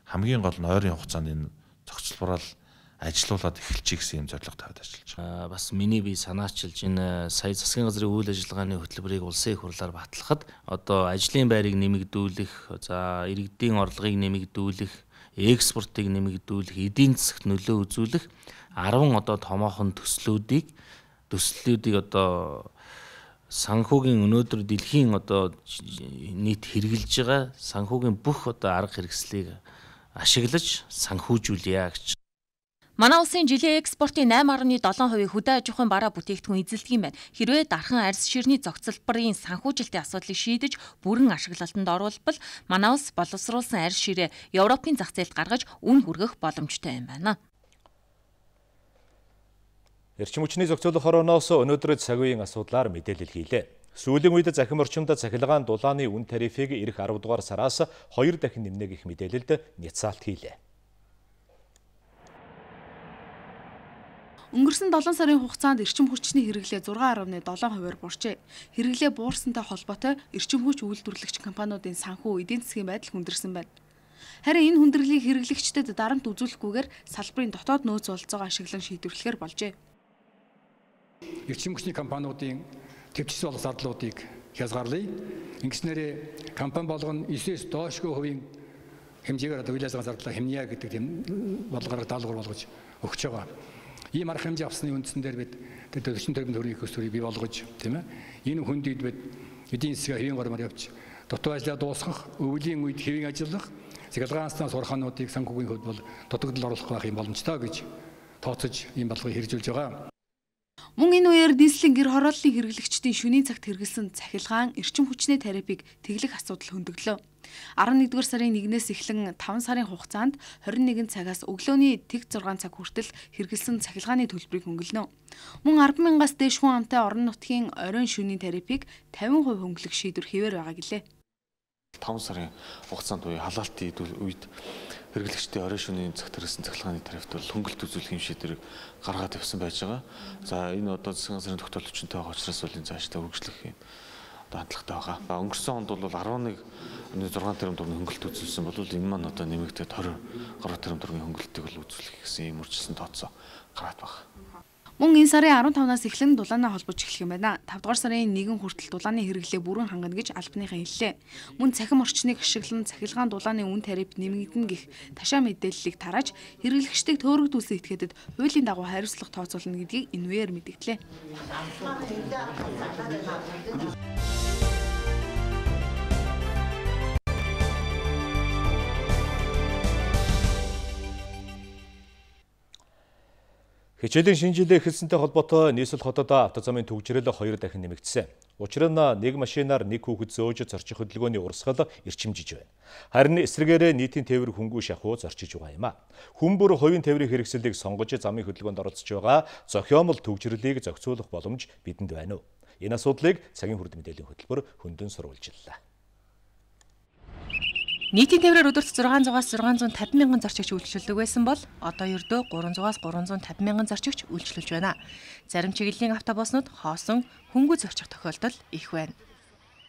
Speaker 6: хамгийн гол нь ойрын хугацаанд энэ зохицолборол ажилуулад эхэлчих гэсэн юм зорилго тавьад ажиллаж байгаа.
Speaker 24: Бас миний бие санаачилж энэ сая засгийн газрын үйл ажиллагааны хөтөлбөрийг улсын их хурлаар батлахад одоо ажлын байрыг нэмэгдүүлэх, за иргэдийн орлогыг нэмэгдүүлэх, экспортыг нэмэгдүүлэх, эдийн засагт нөлөө үзүүлэх арван одоо томоохон төслүүдийг төслүүдийг одоо санхүүгийн өнөөдөр дэлхийн одоо нийт хэрэгжилж байгаа санхүүгийн бүх одоо арга хэрэгслийг ашиглаж санхүүжүүлъя гэж.
Speaker 3: Манай улсын жилийн экспортын найман гаруй долоон хувийг хөдөө аж ахуйн бараа бүтээгдэхүүн эзэлдэг юм байна. Хэрвээ дархан арьс ширний зохицолборын санхүүжилтийн асуудлыг шийдэж бүрэн ашиглалтанд оруулбал манай улс боловсруулсан арьс ширээ Европын зах зээлд гаргаж үн хүргэх боломжтой юм байна.
Speaker 1: Эрчим хүчний зохицуулах хорооноос өнөөдөр цагийн асуудлаар мэдээлэл хийлээ. Сүүлийн үед захим орчимд цахилгаан дулааны үн тарифыг эх арав дугаар сараас хоёр дахин нэмнэ гэх мэдээлэлд няцаалт хийлээ.
Speaker 10: Өнгөрсөн долоон сарын хугацаанд эрчим хүчний хэрэглээ зургаан гаруй долоон хувиар буурчээ. Хэрэглээ буурсантай холбоотой эрчим хүч үйлдвэрлэгч компаниудын санхүү эдийн засгийн байдал хүндэрсэн байна. Харин энэ хүндрэлийг хэрэглэгчдэд дарамт үзүүлэхгүйгээр салбарын дотоод нөөц болцоогоо ашиглан шийдвэрлэхээр болжээ.
Speaker 25: Эрчим хүчний компаниудын төвчсөн болох зардлуудыг хязгаарлая. Ингэснээр компани болгоно эсээс доошгүй хувийн хэмжээгээр одоо үйл ажиллагаа зардлаа хэмнэе гэдэг тийм бодлогоор даалгавар болгож өгч байгаа. Ийм арга хэмжээ авсны үндсэн дээр бид төрчин төрийн төрийн хөсвөрийг бий болгож тийм ээ. Энэ хүндийд бид эдийн засгийн хэвийн гормоор явж дутуу ажлаа дуусгах, өвлийн үед хэвийн ажиллах, цахилгаан сурхаануудыг санхүүгийн хувьд бол дутагдал оруулах байх юм боломжтой гэж тооцож ийм бодлогыг хэрэгжүүлж байгаа.
Speaker 10: Мөн энэ үеэр дийслийн гэр хорооллын хэрэглэгчдийн шөнийн цагт хэрэгэлсэн цахилгаан эрчим хүчний тарифыг тэглэх асуудал хөндөглөө. арван нэгдүгээр сарын нэгнээс эхлэн таван сарын хугацаанд хорин нэгэн цагаас өглөөний тэг зургаан цаг хүртэл хэрэгэлсэн цахилгааны төлбөрийг хөнгөлнө. Мөн арван мянгаас дээш хүн амтай орон нутгийн оройн шөнийн тарифыг тавин хувь хөнгөлөх шийдвэр хэвээр байгаа гэлээ.
Speaker 26: таван сарын хугацаанд үе халаалтын үед хэрэглэгчдийн оройн шөнийн цагт хэрэгсэн цахилгааны тарифт бол хөнгөлт үзүүлэх юм шийдвэрийг гаргаад тавьсан байж байгаа. За энэ одоо засгийн газрын тогтоол хүчинтэй байгаа учраас бол энэ цаашдаа үргэлжлэх юм хандлагатай байгаа. Өнгөрсөн онд бол арван нэг зургаан тэрбум төгрөгийн хөнгөлт үзүүлсэн бол энэ маань одоо нэмэгдээд хорин гаруй тэрбум төгрөгийн хөнгөлтийг бол үзүүлэх гэсэн юм үржилсэн тооцоо гараад байгаа.
Speaker 10: Мөн энэ сарын арван тавнаас эхлэн дулаанаа холбож эхлэх юм байна. тавдугаар сарын нэгэн хүртэл дулааны хэрэглээ бүрэн хангана гэж албаныхан хэллээ. Мөн цахим орчныг ашиглан цахилгаан дулааны үн тариф нэмэгдэнэ гэх ташаа мэдээллийг тарааж хэрэглэгчдийг төөрөгдүүлсэн этгээдэд хуулийн дагуу хариуцлага тооцоолно гэдгийг энэ үеэр мэдгдлээ.
Speaker 1: Хичээлийн шинэ жилээ эхэлсэнтэй холбоотой нийслэл хотод автозамын түгжрэл хоёр дахин нэмэгдсэн. Учир нь нэг машинаар нэг хүүхэд зөөж зорчих хөдөлгөөний урсгал эрчимжиж байна. Харин эсрэгээрээ нийтийн тээвэр хөнгүү шахуу зорчиж байгаа юм а. Хүн бүр хувийн тээврийн хэрэгслийг сонгож замын хөдөлгөөнд оролцож байгаа зохиомл түгжрэлийг зохицуулах боломж бидэнд байна уу? Энэ асуудлыг цагийн хүрд мэдээллийн хөтөлбөр хөндөөн сурвалжиллаа.
Speaker 3: Нийтийн тээврээр өдөрт зургаан зугаас зургаан зуун тавин мянган зорчигч үйлчлүүлдэг байсан бол одоо ердөө гурван зугаас гурван зуун тавин мянган зорчигч үйлчлүүлж байна. Зарим чиглэлийн автобуснууд хоосон хөнгүү зорчих тохиолдол их байна.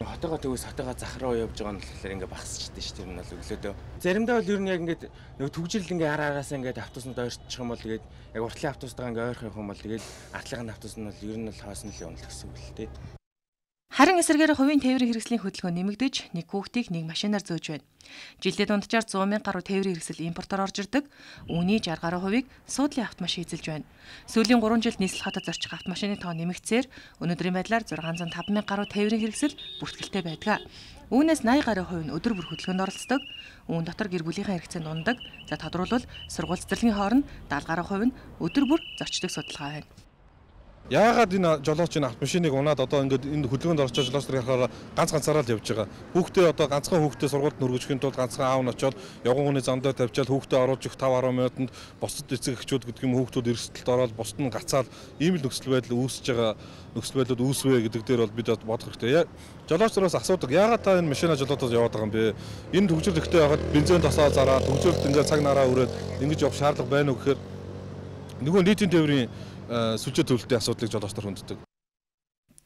Speaker 17: Хотоогоо төгөөс хотоогоо зах руу явж байгаа нь болохоор ингээ багасчихдээ шүү дээ. Энэ бол өглөөдөө. Заримдаа бол ер нь яг ингээд нэг түгжил ингээ ара араасаа ингээд автобуснууд ойрчих юм бол тэгээд яг уртлын автобустайгаа ингээ ойрох юм бол тэгээд артлын автобус нь бол ер нь бол хоосон л юм л гэсэн үг л дээ.
Speaker 3: Харин эсрэгээр хувийн тээврийн хэрэгслийн хөдөлгөөн нэмэгдэж нэг хүүхдийг нэг машинаар зөөж байна. Жилдээ дунджаар сто мянган гаруй тээврийн хэрэгсэл импортоор орж ирдэг. Үүний шестьдесят гаруй хувийг суудлын автомашин эзэлж байна. Сүүлийн гурван жилд нийслэл хотод зорчих автомашины тоо нэмэгдсээр өнөөдрийн байдлаар зургаан зуун таван мянган гаруй тээврийн хэрэгсэл бүртгэлтэй байдаг. Үүнээс восемьдесят гаруй хувь нь өдөр бүр хөдөлгөөнд оролцдог. Үүн дотор гэр бүлийнхээ хэрэгцээнд ундаг. За тодорхойлбол сургууль цэцэрлэгийн хооронд даатгаль гаруй хувь нь өдөр бүр зорчдог судалгаа байна.
Speaker 6: Яагаад энэ жолооч энэ автомашиныг унаад одоо ингээд энэ хөдөлгөөнд орчиж жолооч нар ярахаар ганц ганцаараа л явж байгаа. Хүүхдээ одоо ганцхан хүүхдээ сургуульд нүргэжхийн тулд ганцхан аав нь очоод явган хүний зам дээр тавьчаал хүүхдээ оруулж их five ten минутанд бусад эцэг эхчүүд гэдэг юм хүүхдүүд эрсдэлд ороод бусад нь гацаал ийм л нөхцөл байдал үүсэж байгаа нөхцөл байдлууд үүсвэ гэдэг дээр бол бид бодох хэрэгтэй. Жолооч нараас асуудаг яагаад та энэ машина жолоотод яваад байгаа юм бэ? Энэ төгжрөл ихтэй байхад бензин тосоо зараа төгжрөлт ингээд цаг нараа өрөөд ингэж явах шаардлага байна уу гэхээр нөгөө нийтийн тээврийн сүлжээ төлөлтийн асуудлыг жолооч нар хүнддэг.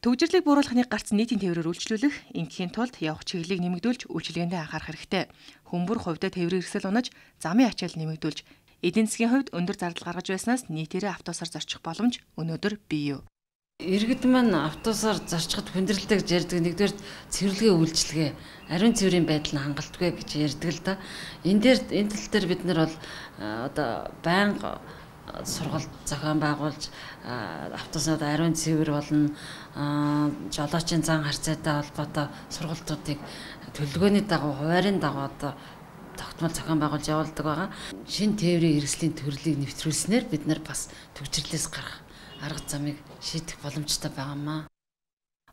Speaker 3: Төгжрлийг бууруулахны гарц нийтийн тээврээр үйлчлүүлэх, ингээхийн тулд явах чиглэлийг нэмэгдүүлж үйлчилгээндээ анхаарах хэрэгтэй. Хүмүүр хувьдаа тээврийн хэрэгсэл унаж, замын ачаал нэмэгдүүлж, эдийн засгийн хувьд өндөр зардал гаргаж байснаас нийтээрээ автобусаар зорчих боломж өнөөдөр бий юу?
Speaker 2: Иргэд маань автобусаар зорчиход хүндрэлтэй гэж ярьдаг. Нэгдүгээр цэвэрлэгээ үйлчилгээ, ариун цэврийн байдал нь хангалтгүй гэж ярьдаг л да. Энэ дээр энэ тал дээр бид нар бол одоо байнга сургалт зохион байгуулж автобуснууд ариун цэвэр болно, жолоочийн зан харьцаатай холбоотой сургалтуудыг төлөвлөгөөний дагуу хуваарийн дагуу одоо тогтмол зохион байгуулж явуулдаг байгаа. Шинэ тээврийн хэрэгслийн төрлийг нэвтрүүлснээр бид нар бас төгжрлээс гарах арга замыг шийдэх боломжтой байгаамаа.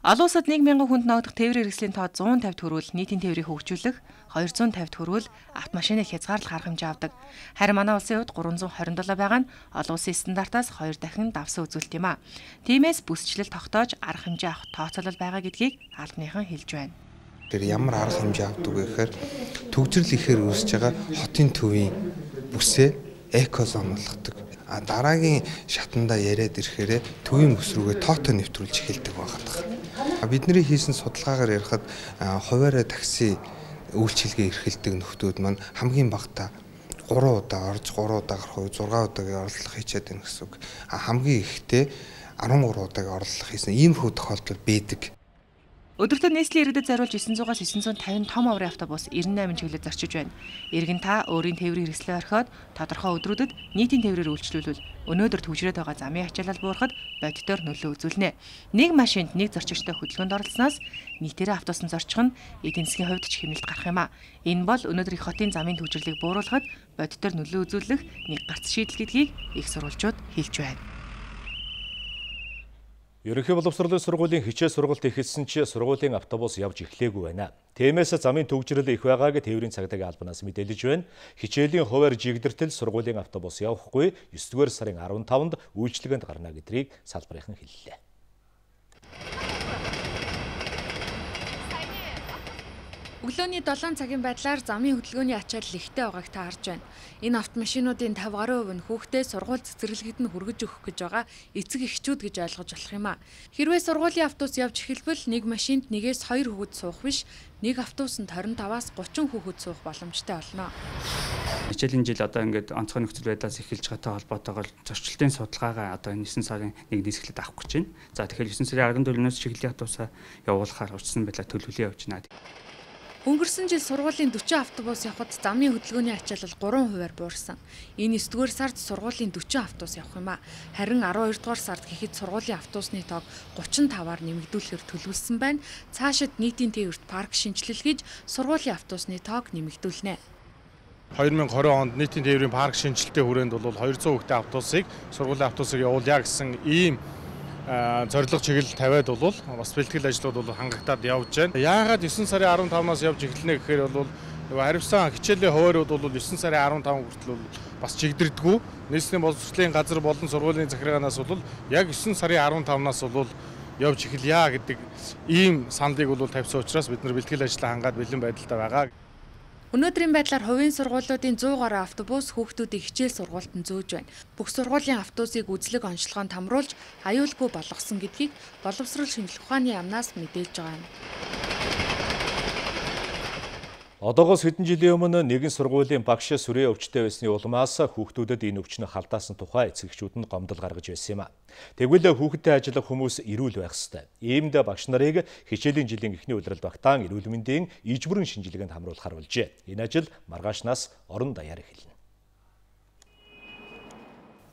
Speaker 3: Олон улсад нэг мянган хүнд ногдох тээврийн хэрэгслийн тоо зуун тавь төгрөг нийтийн тээврийг хөгжүүлэх, двести пятьдесят төгрөг автомашиныг хязгаарлах арга хэмжээ авдаг. Харин манай улсын хувьд гурван зуун двадцать семь байгаа нь олон улсын стандартаас хоёр дахин давсан үзүүлэлт юм а. Тиймээс бүсчлэл тогтоож арга хэмжээ авах тооцоолол байгаа гэдгийг албаныхан хэлж байна.
Speaker 8: Тэр ямар арга хэмжээ авдаг вэ гэхээр төгжрөл ихээр үүсэж байгаа хотын төвийн бүсээ экозон болгодог. А дараагийн шатандаа яриад ирэхээр төвийн бүс рүүгээ тоотой нэвтрүүлж эхэлдэг байгаа. Бидний хийсэн судалгаагаар ярихад хуваарай такси үйлчилгээ эрхэлдэг нөхдүүд маань хамгийн багадаа гурван удаа орж гурван удаа гарах уу зургаан удаагийн орлого хийчихэд байна гэсэн үг. А хамгийн ихдээ арван гурван удаагийн орлого хийсэн ийм хүү тохиолдол байдаг.
Speaker 3: Өдөртөө нийслэлийн иргэдэд зориулж девять сотоос девять cinquanta том аврын автобус ninety-eight чиглэлд зорчиж байна. Иргэн та өөрийн тээврийн хэрэгслээ орхиод тодорхой өдрүүдэд нийтийн тээврээр үйлчлүүлвэл өнөөдөр төвжрээд байгаа замын ачаалал буурахад бодитоор нөлөө үзүүлнэ. Нэг машинд нэг зорчигчтой хөдөлгөөнд оролцсноос нийтээрээ автобусан зорчих нь эдийн засгийн хувьд ч хэмнэлт гарах юм а. Энэ бол өнөөдрийн хотын замын төвжрлийг бууруулахад бодитоор нөлөө үзүүлэх нэг гарц шийдэл гэдгийг их сурвалжууд хэлж байна.
Speaker 1: Ерөнхий боловсролын сургуулийн хичээл сургалт эхэлсэн ч сургуулийн автобус явж эхлээгүй байна. Тиймээс замын төгжрөл их байгааг тээврийн цагдаагийн албанаас мэдээлж байна. Хичээлийн хуваар жигдэртэл сургуулийн автобус явахгүй нine дугаар сарын fifteen-нд үйлчилгээнд гарна гэдгийг салбарынхан хэллээ.
Speaker 10: Өглөөний seven цагийн байдлаар замын хөдөлгөөний ачаалал ихтэй байгааг та харж байна. Энэ автомашинуудын fifty гаруй хувь нь хүүхдээ сургууль цэцэрлэгэд нь хүргэж өгөх гэж байгаа эцэг эхчүүд гэж ойлгож болох юм а. Хэрвээ сургуулийн автобус явж эхэлбэл нэг машинд нэгээс хоёр хүүхэд суух биш, нэг автобусанд twenty-five-аас thirty хүүхэд суух боломжтой болно.
Speaker 9: Хичээлийн жил одоо ингээд онцгой нөхцөл байдлаас эхэлж байгаатай холбоотойгоор зорчлолтын судалгаагаа одоо nine сарын one нийслэлд авах гэж байна. За тэгэхээр nine сарын fourteen-өөс чиглэлийн автобусаа явуулахаар урьдчилан байдлаар төлөвлөе явж байна.
Speaker 10: Өнгөрсөн жил сургуулийн forty автобус явахад замын хөдөлгөөний ачаалал three хувиар буурсан. Энэ nine дугаар сард сургуулийн forty автобус явах юм а. Харин twelve дугаар сард гэхэд сургуулийн автобусны тоог thirty-five-аар нэмэгдүүлэхээр төлөвлөсөн байна. Цаашид нийтийн тээвэрт парк шинжилэл хийж сургуулийн автобусны тоог нэмэгдүүлнэ.
Speaker 11: хоёр мянга и двадцать онд нийтийн тээврийн парк шинжилтийн хүрээнд бол хоёр зуун хүүхдийн автобусыг сургуулийн автобусыг явуулъя гэсэн ийм зорилго чиглэл тавиад бол бас бэлтгэл ажлууд бол хангагтаад явж байна. Яагаад девять сарын арван тавнаас явж эхэлнэ гэхээр бол нөгөө хариуцсан хичээлийн хуваарууд бол девять сарын арван таван хүртэл бол бас чигдэрдэггүй. Нийслэлийн боловсролын газар болон сургуулийн захиргаанаас бол яг девять сарын арван тавнаас бол явж эхэлье гэдэг ийм саналыг бол тавьсан учраас бид нар бэлтгэл ажлаа хангаад бэлэн байдалтай байгаа.
Speaker 10: Өнөөдрийн байдлаар хувийн сургуулиудын сто гаруй автобус хүүхдүүдийг хичээл сургуультанд зөөж байна. Бүх сургуулийн автобусыг үзлэг онцлогоонд хамруулж аюулгүй болгосон гэдгийг боловсрол шинжилгээ ухааны яамнаас мэдээлж байгаа юм.
Speaker 1: Одоогоос хэдэн жилийн өмнө нэгэн сургуулийн багш сүрээ өвчтэй байсны улмаас хүүхдүүдэд энэ өвчнө халдаасан тухай эцэгчүүд нь гомдол гаргаж байсан юм а. Тэгвэл хүүхэдтэй ажиллах хүмүүс эрүүл байх ёстой. Иймд багш нарыг хичээлийн жилийн эхний улирал багтаан эрүүл мэндийн ижбүрэн шинжилгээнд хамруулахар болжээ. Энэ ажил маргаашнаас орон даяар эхэлнэ.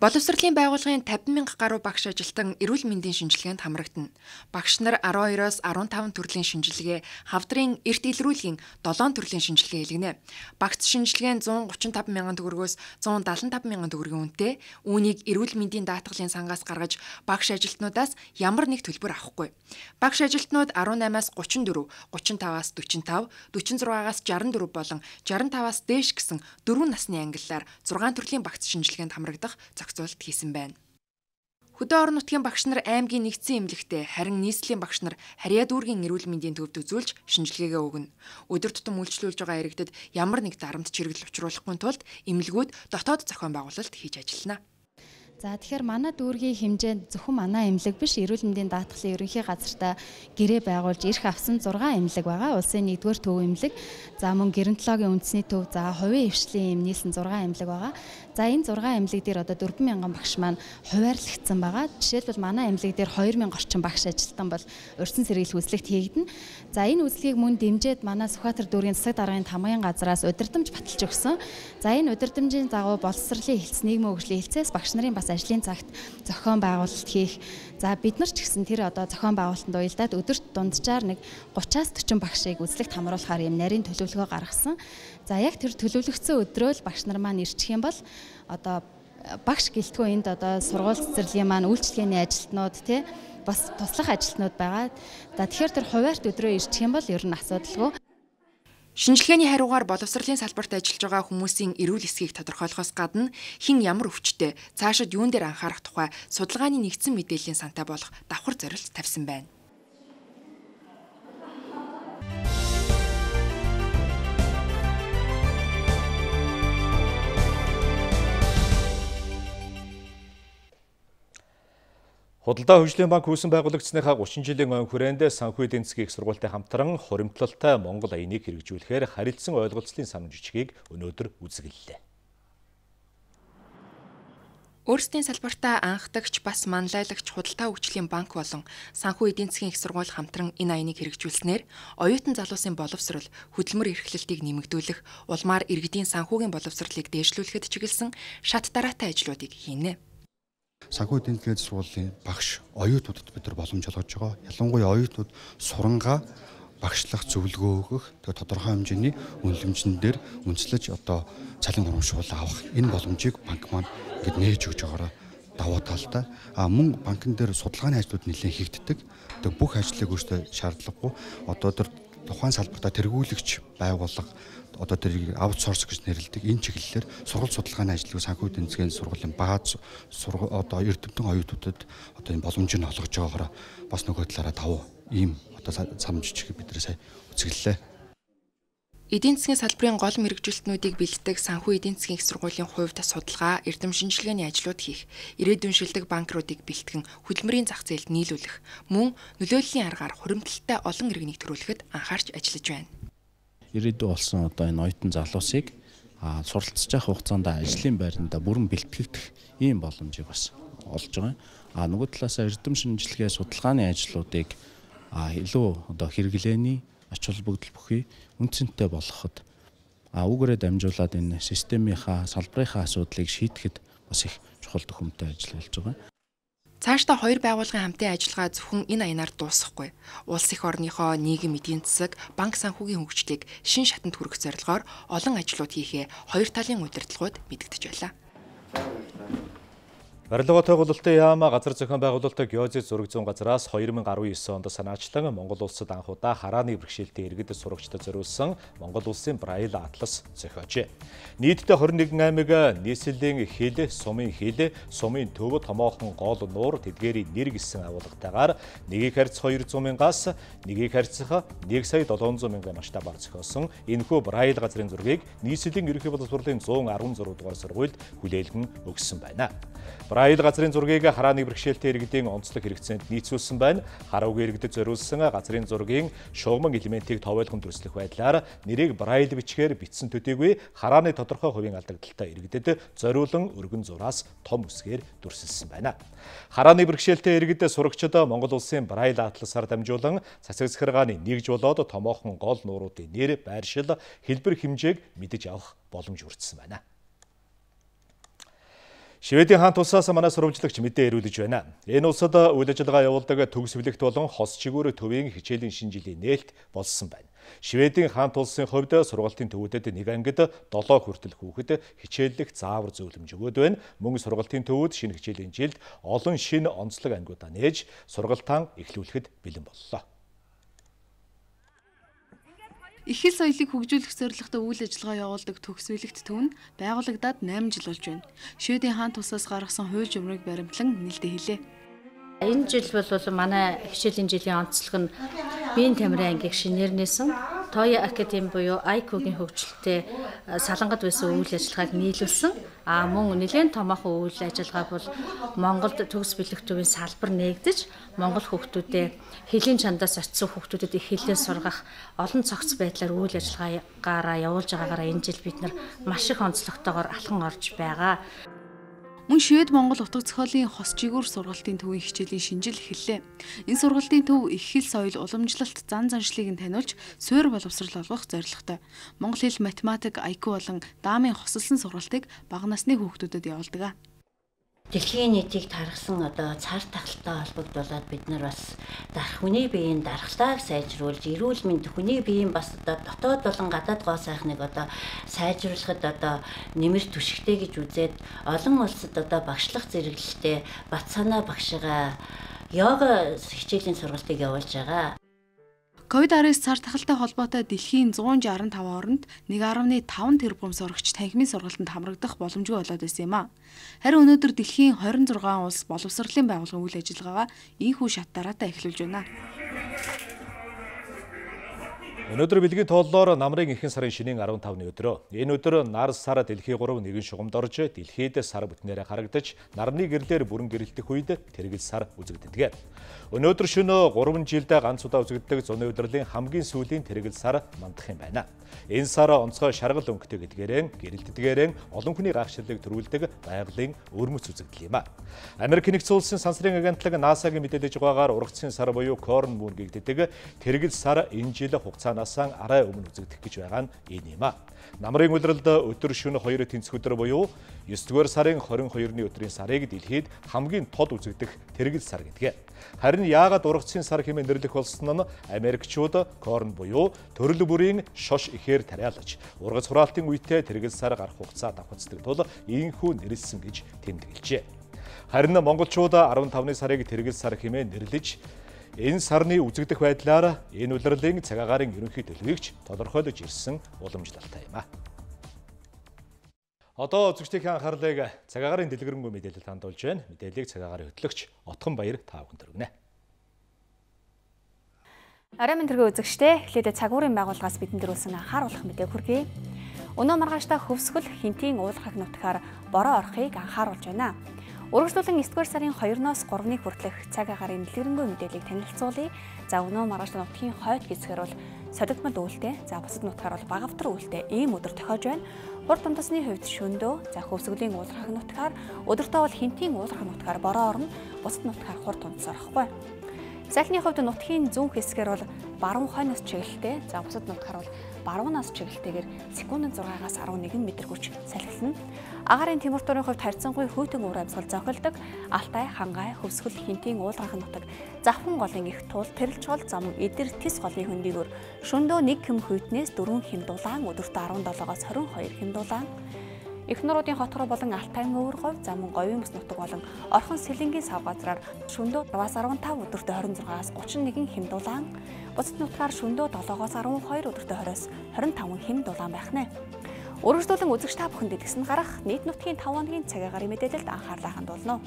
Speaker 10: Боловсролын байгууллагын тавин мянга гаруй багш ажилтан эрүүл мэндийн шинжилгээнд хамрагдана. Багш нар арван хоёроос арван таван төрлийн шинжилгээ, хавдрын эрт илрүүлгийн долоон төрлийн шинжилгээ хийлгэнэ. Багц шинжилгээ нь зуун гучин таван мянган төгрөгөөс зуун дадлан таван мянган төгрөгийн үнэтэй. Үүнийг эрүүл мэндийн даатгалын сангаас гаргаж багш ажилтнуудаас ямар нэг төлбөр авахгүй. Багш ажилтнууд арван наймаас гучин дөрөв, гучин таваас дөрвөн тав, дөрвөн зургаагаас шестдесет и дөрвөн болон шестдесет и таваас дээш гэсэн дөрвөн насны ангиллаар зургаан төрлийн багц шинжилгээнд хамрагдах зохицуулт хийсэн байна. Хөдөө орон нутгийн багш нар аймгийн нэгдсэн эмнэлэгтээ, харин нийслэлийн багш нар Харьяа дүүргийн эрүүл мэндийн төвд үзүүлж шинжилгээгээ өгнө. Өдөр тутам үйлчлүүлж байгаа иргэдэд ямар нэг дарамт чирэгдэл учруулахгүй тулд эмнэлгүүд дотоод зохион байгуулалт хийж ажиллана.
Speaker 12: За тэгэхээр манай дүүргийн хэмжээнд зөвхөн манай эмнэлэг биш, эрүүл мэндийн даатгалын ерөнхий газартаа гэрээ байгуулж ирэх авсан зургаан эмнэлэг байгаа. Улсын нэгдүгээр төв эмнэлэг, за мөн геронтологийн үндэсний төв, за хувийн хвшлийн эм нийлсэн зургаан эмнэлэг байгаа. За энэ зургаан эмнэлэг дээр одоо дөрвөн мянган багш маань хуваарлагдсан байгаа. Жишээлбэл манай эмнэлэг дээр хоёр мянга орчим багш ажилтан бол урьдчилан сэргийлэх үзлэгт хийгдэнэ. За энэ үзлэгийг мөн дэмжиж манай Сүхбаатар дүүргийн засаг даргын тамгын газраас удирдамж баталж өгсөн. За энэ удирдамжийн дагуу боловсролын хэлтс, нийгмийн хөгжлийн хэлтсээс багш нарын бас ажлын цагт зохион байгуулалт хийх. За бид нар ч гэсэн тэр одоо зохион байгуулалтанд уялдаад өдөрт дунджаар нэг гутраас дөрвөн багшийг үзлэгт хамруулахаар юм нарийн төлөвлөгөө гаргасан. За яг тэр төлөвлөгдсөн өдрөө л багш нар маань ирчих юм бол одоо багш гэлтгүй энд одоо сургууль цэцэрлэгийн маань үйлчлэгээний ажилтнууд тий бас туслах ажилтнууд байгаа. За тэгэхээр тэр хуваарт өдрөө ирчих юм бол ер нь асуудалгүй.
Speaker 10: Шинжилгээний хариугаар боловсролын салбарт ажиллаж байгаа хүмүүсийн эрүүл эсхийг тодорхойлохоос гадна хэн ямар өвчтөй, цаашид юун дээр анхаарах тухай судалгааны нэгдсэн мэдээллийн сантай болох давхар зорилт тавьсан байна.
Speaker 1: Худалдаа хөгжлийн банк хүйсэн байгуулагдсныхаа гучин жилийн өн хүрээнд санхүү эдийн засгийн их сургуультай хамтран хуримтлалтай Монгол аяныг хэрэгжүүлэхээр харилцан ойлголцлын сан жижигийг өнөөдөр үзэглэлээ.
Speaker 10: Өөрсдийн салбартаа анхдагч бас манлайлагч худалдаа хөгжлийн банк болон санхүү эдийн засгийн их сургууль хамтран энэ аяныг хэрэгжүүлснээр оюутан залуусын боловсрол, хөдөлмөр эрхлэлтийг нэмэгдүүлэх, улмаар иргэдийн санхүүгийн боловсролыг дээшлүүлэхэд чиглэсэн шат дараатай ажлуудыг хийнэ.
Speaker 13: Санхүү эдийн засгийн сургуулийн багш оюутнуудад бид нар боломж олгож байгаа. Ялангуяа оюутнууд сурангаа багшлах зөвлөгөө өгөх, тэгээ тодорхой хэмжээний үнэлэмжн дээр үндэслэж одоо цалин урамшуул авах энэ боломжийг банк маань ингээд нээж өгж байгаараа давуу талтай. А мөн банкн дээр судалгааны ажлууд нэлээд хийгддэг. Тэгээ бүх ажлыг өөртөө шаардлагагүй одоо тэр тухайн салбартаа тэргүүлэгч байгууллага одоо тэрийг аутсорс гэж нэрлэдэг энэ чиглэлээр сургууль судалгааны ажлыг санхүү эдийн засгийн сургуулийн бааз одоо эрдэмтэн оюутнуудад одоо энэ боломжийг олгож байгаагаар бас нөгөө талаараа давуу ийм одоо сам жижиг бид нэр сая үзэглэлээ.
Speaker 10: Эдийн засгийн салбарын гол мэргэжилтнүүдийг бэлддэг санхүү эдийн засгийн их сургуулийн хувьд судалгаа, эрдэм шинжилгээний ажлууд хийх, ирээдүйн шилдэг банкруудыг бэлтгэн хөдөлмөрийн зах зээлд нийлүүлэх, мөн нөлөөллийн аргаар хуримтлалтай олон иргэнийг төрүүлэхэд анхаарч ажиллаж байна.
Speaker 14: Ирээдүй болсон одоо энэ оюутан залуусыг суралцж явах хугацаанд ажлын байранда бүрэн бэлтгэгдэх ийм боломжийг бас олж байгаа. А нөгөө талаас эрдэм шинжилгээ судалгааны ажлуудыг илүү одоо хэрэглээний ач холбогдол бүхий үнцэнтэй болгоход үүгээрээ дамжуулаад энэ системийнхаа салбарынхаа асуудлыг шийдэхэд бас их чухал төхөмтэй ажил болж байгаа.
Speaker 10: Цаашдаа хоёр байгууллагын хамтын ажиллагаа зөвхөн энэ аянаар дуусахгүй. Улс их орныхоо нийгэм эдийн засаг, банк санхүүгийн хөгжлийг шин шатанд хүргэх зорилгоор олон ажлууд хийхээ хоёр талын удирдлагууд мэдэгдэж байлаа.
Speaker 1: Барилга байгуулалтын яама газар зохион байгуулалтын геозис зураг зүүн газраас two thousand nineteen онд санаачлан Монгол улсад анх удаа харааны бэрхшээлтэй иргэдэд сурагчдад зориулсан Монгол улсын Braille атлас зохиожээ. Нийтдээ twenty-one аймаг нийслэлийн хэл, сумын хэл, сумын төв, томоохон гол нуур, тэдгээрийн нэр гэсэн агуулгатайгаар нэгийг харьцах two hundred мянгаас нэгийг харьцах one сая seven hundred мянган масштабаар зохиосон энэхүү Braille газрын зургийг нийслэлийн ерөнхий боловсролын one hundred sixteen дугаар сургуульд хүлээлгэн өгсөн байна. Braille газрын зургийг харааны бэрхшээлтэй иргэдийн онцлог хэрэгцээнд нийцүүлсэн байна. Хараагүй иргэдэд зориулсан газрын зургийн шугаман элементийг товойлгон дүрслэх байдлаар нэрийг Braille бичгээр бичсэн төдийгүй харааны тодорхой хувийн алдагдaltaй иргэдэд зориулан өргөн зураас том үсгээр дүрсэлсэн байна. Харааны бэрхшээлтэй иргэдэд сурагчид Монгол улсын Braille атласаар дамжуулан цацаг захиргааны нэгж болоод томоохон гол нууруудын нэр, байршил, хэлбэр хэмжээг мэдэж авах боломж өртсөн байна. Шведийн хаант улсаас манай сурвалжлагч мэдээ ирүүлж байна. Энэ улсад үйл ажиллагаа явуулдаг төгс бүлэгт болон хос чигүүр төвийн хичээлийн шинэ жилийн нээлт болсон байна. Шведийн хаант улсын хувьд сургалтын төвүүдэд нэг ангид seven хүртэл хүүхэд хичээллэх заавар зөвлөмж өгöd байна. Мөн сургалтын төвүүд шинэ хичээлийн жилд олон шинэ онцлог ангиудаа нээж сургалтаа эхлүүлэхэд бэлэн боллоо.
Speaker 10: Их хэл соёлыг хөгжүүлэх зорилготой үйл ажиллагаа явуулдаг төгс бүлэгт төв нь байгуулагдаад eight жил болж байна. Шведийн хаант улсаас гаргасан хууль журмыг баримтлан нээлттэй хэлээ.
Speaker 5: Энэ жил бол манай хичээлийн жилийн онцлог нь биеийн тамирын ангийг шинээр нээсэн, Toya Academy буюу ай кью-гийн хөгжилтэй салангад байсан үйл ажиллагааг нийлүүлсэн. А мөн нэлээд томоохон үйл ажиллагаа бол Монголд төгс бүлэг төвийн салбар нээгдэж Монгол хүүхдүүдэд хэлийн чандаас очисон хүүхдүүдэд их хэлээ сургах олон цогц байдлаар үйл ажиллагаагаа явуулж байгаагаараа энэ жил бид нар маш их онцлогтойгоор алхан орж байгаа.
Speaker 10: Мөн Швед Монгол утга зохиолын хос чигүүр сургалтын төвийн хичээлийн шинжил эхэллээ. Энэ сургалтын төв их хэл соёл уламжлалт зан заншлыг нь таниулж суурь боловсрал олгох зорилготой. Монгол хэл, математик, ай кью болон даамын хосолсон сургалтыг бага насны хүүхдүүдэд явуулдаг.
Speaker 5: Дэлхийн нийтийг тархсан одоо цар тахалтай холбогдуулаад бид нар бас дарах хүний биеийн дархлааг сайжруулж, эрүүл мэнд хүний биеийн бас одоо дотоод болон гадаад гоо сайхныг одоо сайжруулахад одоо нэмэр түшигтэй гэж үзээд олон улсад одоо багшлах зэрэглэлтэй бат санаа багшгаа йога хичээлийн сургалтыг явуулж байгаа.
Speaker 10: ковид-nineteen цар тахалтай холбоотой дэлхийн one sixty-five орнд one point five тэрбум сурагч танхимын сургалтанд хамрагдах боломжгүй болоод байсан юм а. Харин өнөөдөр дэлхийн twenty-six улс боловсролын байгууллагын үйл ажиллагаагаа ийхүү шат дараатай эхлүүлж байна.
Speaker 1: Өнөөдөр бэлгийн тооллоор намрын ихэнх сарын шинийн fifteen-ны өдрөө. Энэ өдөр нар сар дэлхий three нэгэн шугамд орж дэлхийд сар бүтнээрээ харагдаж нарны гэрлээр бүрэн гэрэлтэх үед тэргэл сар үзэгддэг. Өнөөдөр шөнө three жилд ганц удаа үзэгддэг зуны удирлын хамгийн сүүлийн тэргэл сар мандах юм байна. Энэ сар онцгой шаргал өнгөтэй гэдгээрэн гэрэлтдгээрэн олон хүний гайхширлыг төрүүлдэг байгалийн өрмөц үзэгдэл юм а. Америк нэгдсэн улсын сансрын агентлаг NASA-гийн мэдээлж байгаагаар ургацын сар буюу Corn Moon гэгддэг тэргэл сар энэ жил хугацаанаас арай өмнө үзэгдэх гэж байгаа нь энэ юм а. Намрын улиралд өдөр шөнө хоёр тэнцэх өдөр буюу nine дугаар сарын twenty-two-ны өдрийн сарыг дэлхийд хамгийн тод үзэгдэх тэргэл сар гэдэг. Харин яагаад ургацын сар хэмээн нэрлэх болсон нь Америкчууд Корн буюу төрөл бүрийн шош ихээр тариалаж ургац хураалтын үедээ тэргэл сар гарах хугацаа давхацдаг тул ийхүү нэрлсэн гэж тэмдэглэжээ. Харин монголчууд fifteen-ны сарыг тэргэл сар хэмээн нэрлэж энэ сарны үзэгдэх байдлаар энэ улирлын цаг агаарын ерөнхий төлөвийг тодорхойлож ирсэн уламжлалтай юм а. Одоо үзэгчдийн анхаарлыг цаг агаарын дэлгэрэнгүй мэдээлэлд хандуулж байна. Мэдээллийг цаг агаарын хөтлөгч Отгон Баяр та бүхэнд өргөнө.
Speaker 15: Арай мэндэргээ үзэгчдээ эхлээд цаг уурын байгууллагаас бидэнд дөрүүлсэн анхааруулах мэдээг хүргэе. Өнөө маргааштай хөвсгөл хинтийн уулархаг нутгаар бороо орохыг анхааруулж байна. Урагшлуулан nine дугаар сарын two-ноос three-ны хүртэлх цаг агаарын дэлгэрэнгүй мэдээллийг танилцуулъя. За өнөө маргааштай нутгийн хойд хэсгээр бол содигмал үйлдэл, за бусад нутгаар бол багавтар үйлдэл ийм өдөр тохиож байна. Хурд дундасны хувьд шөндөө, за хөвсгөлийн уулархаг нутгаар, өдөртөө бол хинтийн уулархаг нутгаар бороо орно, бусад нутгаар хурд дундас орохгүй. Салхины хувьд нутгийн зүүн хэсгээр бол баруун хойноос чиглэлтэй, за бусад нутгаар бол баруунаас чиглэлтэйгээр секундэд зургаагаас арван нэгэн метр хүрч салхилна. Агаарын Тимүртөрийн хувьд харьцангуй хөйтөн уур амьсгал зохилдог. Алтай, Хангай, Хөвсгөл, Хинтийн уулгахын нутаг, Завхан голын их туул, Тэрэлж гол, зам, Эдэр, Тис голын хөндийгөр шөндөө нэг хэм хүйтнээс дөрвөн хэм дулаан, өдөртөө арван долоогоос хорин хоёр хэм дулаан. Их нуруудын хотхор болон Алтай өвөр говь, зам, Говийн бүс нутаг болон Орхон Сэлэнгийн сав газраар шөндөө арваас арван тав, өдөртөө хорин зургаас гучин нэгэн хэм дулаан. Бусад нутгаар шөндөө долоогоос арван хоёр, өдөртөө хориос хорин таван хэм дулаан байх нэ. Үргэлжлүүлэн үзэгч та бүхэнд дэлгэсэн гарах нийт нутгийн таван хоногийн цаг агаарын мэдээлэлд анхаарлаа хандуулна.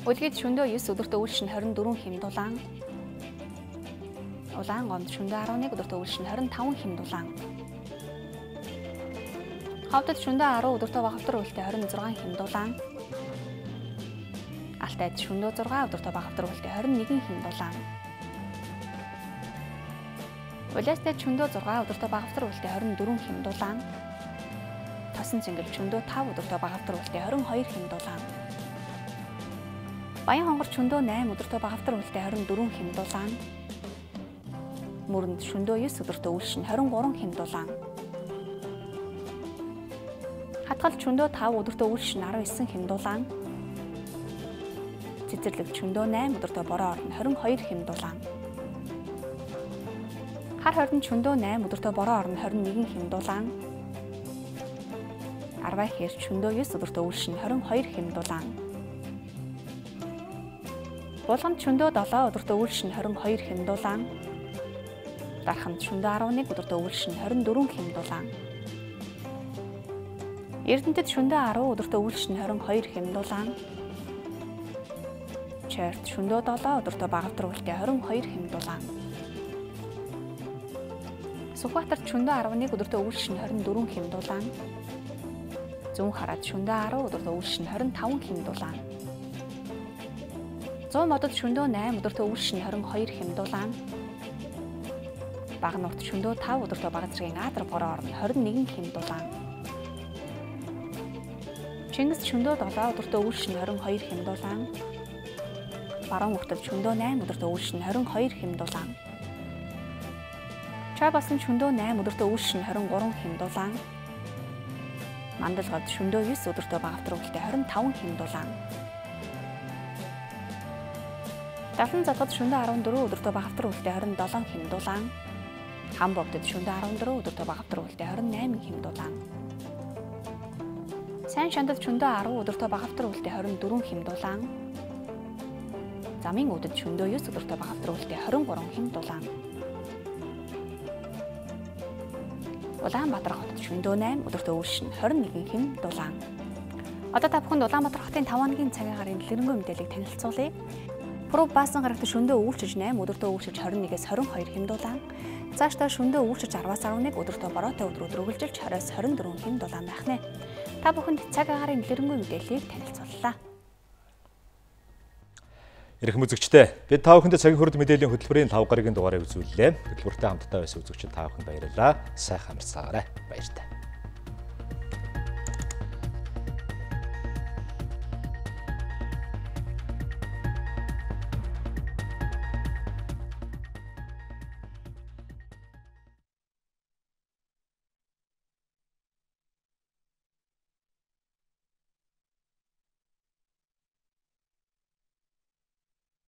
Speaker 15: Үлгэд шөндөө девять өдөртөө үйлшин хорин дөрвөн хэм дулаан. Улаан гомд шөндөө арван нэг өдөртөө үйлшин хорин таван хэм дулаан. Хавдад шөндөө арав өдөртөө багавтар үлдээ хорин зургаан хэм дулаан. Алтайд шөндөө зургаан өдөртөө багавтар үлдээ хорин нэгэн хэм дулаан. Улаастай шөндөө зургаан өдөртөө багавтар үлдээ хорин дөрвөн хэм дулаан. Тосон цэнгэл шөндөө тав өдөртөө багавтар үлдээ хорин хоёр хэм дулаан. Баян хонгор шөндөө найман өдөртөө багавтар үлдээ хорин дөрвөн хэм дулаан. Мөрөнд шөндөө девять өдөртөө үйлшин хорин гурван хэм дулаан. Хатгал шөндөө тав өдөртөө үйлшин арван девять хэм дулаан. Цэцэрлэг шөндөө найман өдөртөө бороо орно хорин хоёр хэм дулаан. Хар хорин шөндөө найман өдөртөө бороо орно хорин нэгэн хэм дулаан. Арвай хэр шөндөө девять өдөртөө үйлшин хорин хоёр хэм дулаан. Булганд шөндөө долоо өдөртөө үйлшин хорин хоёр хэм дулаан. Дарханд шөндөө арван нэг өдөртөө үйлшин хорин дөрвөн хэм дулаан. Эрдэнэтэд шөндөө арав өдөртөө үйлшин хорин хоёр хэм дулаан. Чойрт шөндөө долоо өдөртөө багавтар үлдээ хорин хоёр хэм дулаан. Сүхбаатарт шөндөө арван нэг өдөртөө үйлшин хорин дөрвөн хэм дулаан. Зүүн хараад шөндөө арав өдөртөө үйлшин хорин таван хэм дулаан. Зүүн модод шөндөө найман өдөртөө үйлшин хорин хоёр хэм дулаан. Багнуут шөндөө тав өдөртөө багцрын Аадар бороо орно хорин нэгэн хэм дулаан. Чингис шөндөө долоо өдөртөө үйлшин хорин хоёр хэм дулаан. Баруун хөлтөд шөндөө найман өдөртөө үйлшин хорин хоёр хэм дулаан. Чабасан шөндөө найман өдөртөө үйлшин хорин гурван хэм дулаан. Мандалгад шөндөө девять өдөртөө багавтар үлдээ хорин таван хэм дулаан. Далан залгад шөндөө арван дөрвөн өдөртөө багавтар үлдээ хорин долоон хэм дулаан. Хамбогдод шөндөө арван дөрвөн өдөртөө багавтар үлдээ хорин найман хэм дулаан. Сайн шандад шөндөө арав өдөртөө багавтар үлдээ хорин дөрвөн хэм дулаан. Замын үдэд шөндөө девять өдөртөө багавтар үлдээ хорин гурван хэм дулаан. Улаанбаатар хотод шөндөө найман өдөртөө үйлшин хорин нэгэн хэм дулаан. Одоо та бүхэнд Улаанбаатар хотын таван хоногийн цаг агаарын дэлгэрэнгүй мэдээллийг танилцуулъя. Пүрэв Баасан гарагт шөндөө үйлчилж найман өдөртөө үйлчилж хорин нэгээс хорин хоёр хэм дулаан. Цаашдаа шөндөө үйлчилж арваас арван нэг өдөртөө бороотой өдрөөр үргэлжилж хориос хорин дөрвөн хэм дулаан байх нэ. Та бүхэнд цаг агаарын дэлгэрэнгүй мэдээллийг танилцууллаа.
Speaker 1: Ирэх үзэгчдээ бид та бүхэнд цагийн хурд мэдээллийн хөтөлбөрийн тав гарагийн дугаарыг үзүүллээ. Хөтөлбөртэй хамтдаа байсан үзэгчид та бүхэнд баярлалаа. Сайхан амарцгаарай. Баяртай.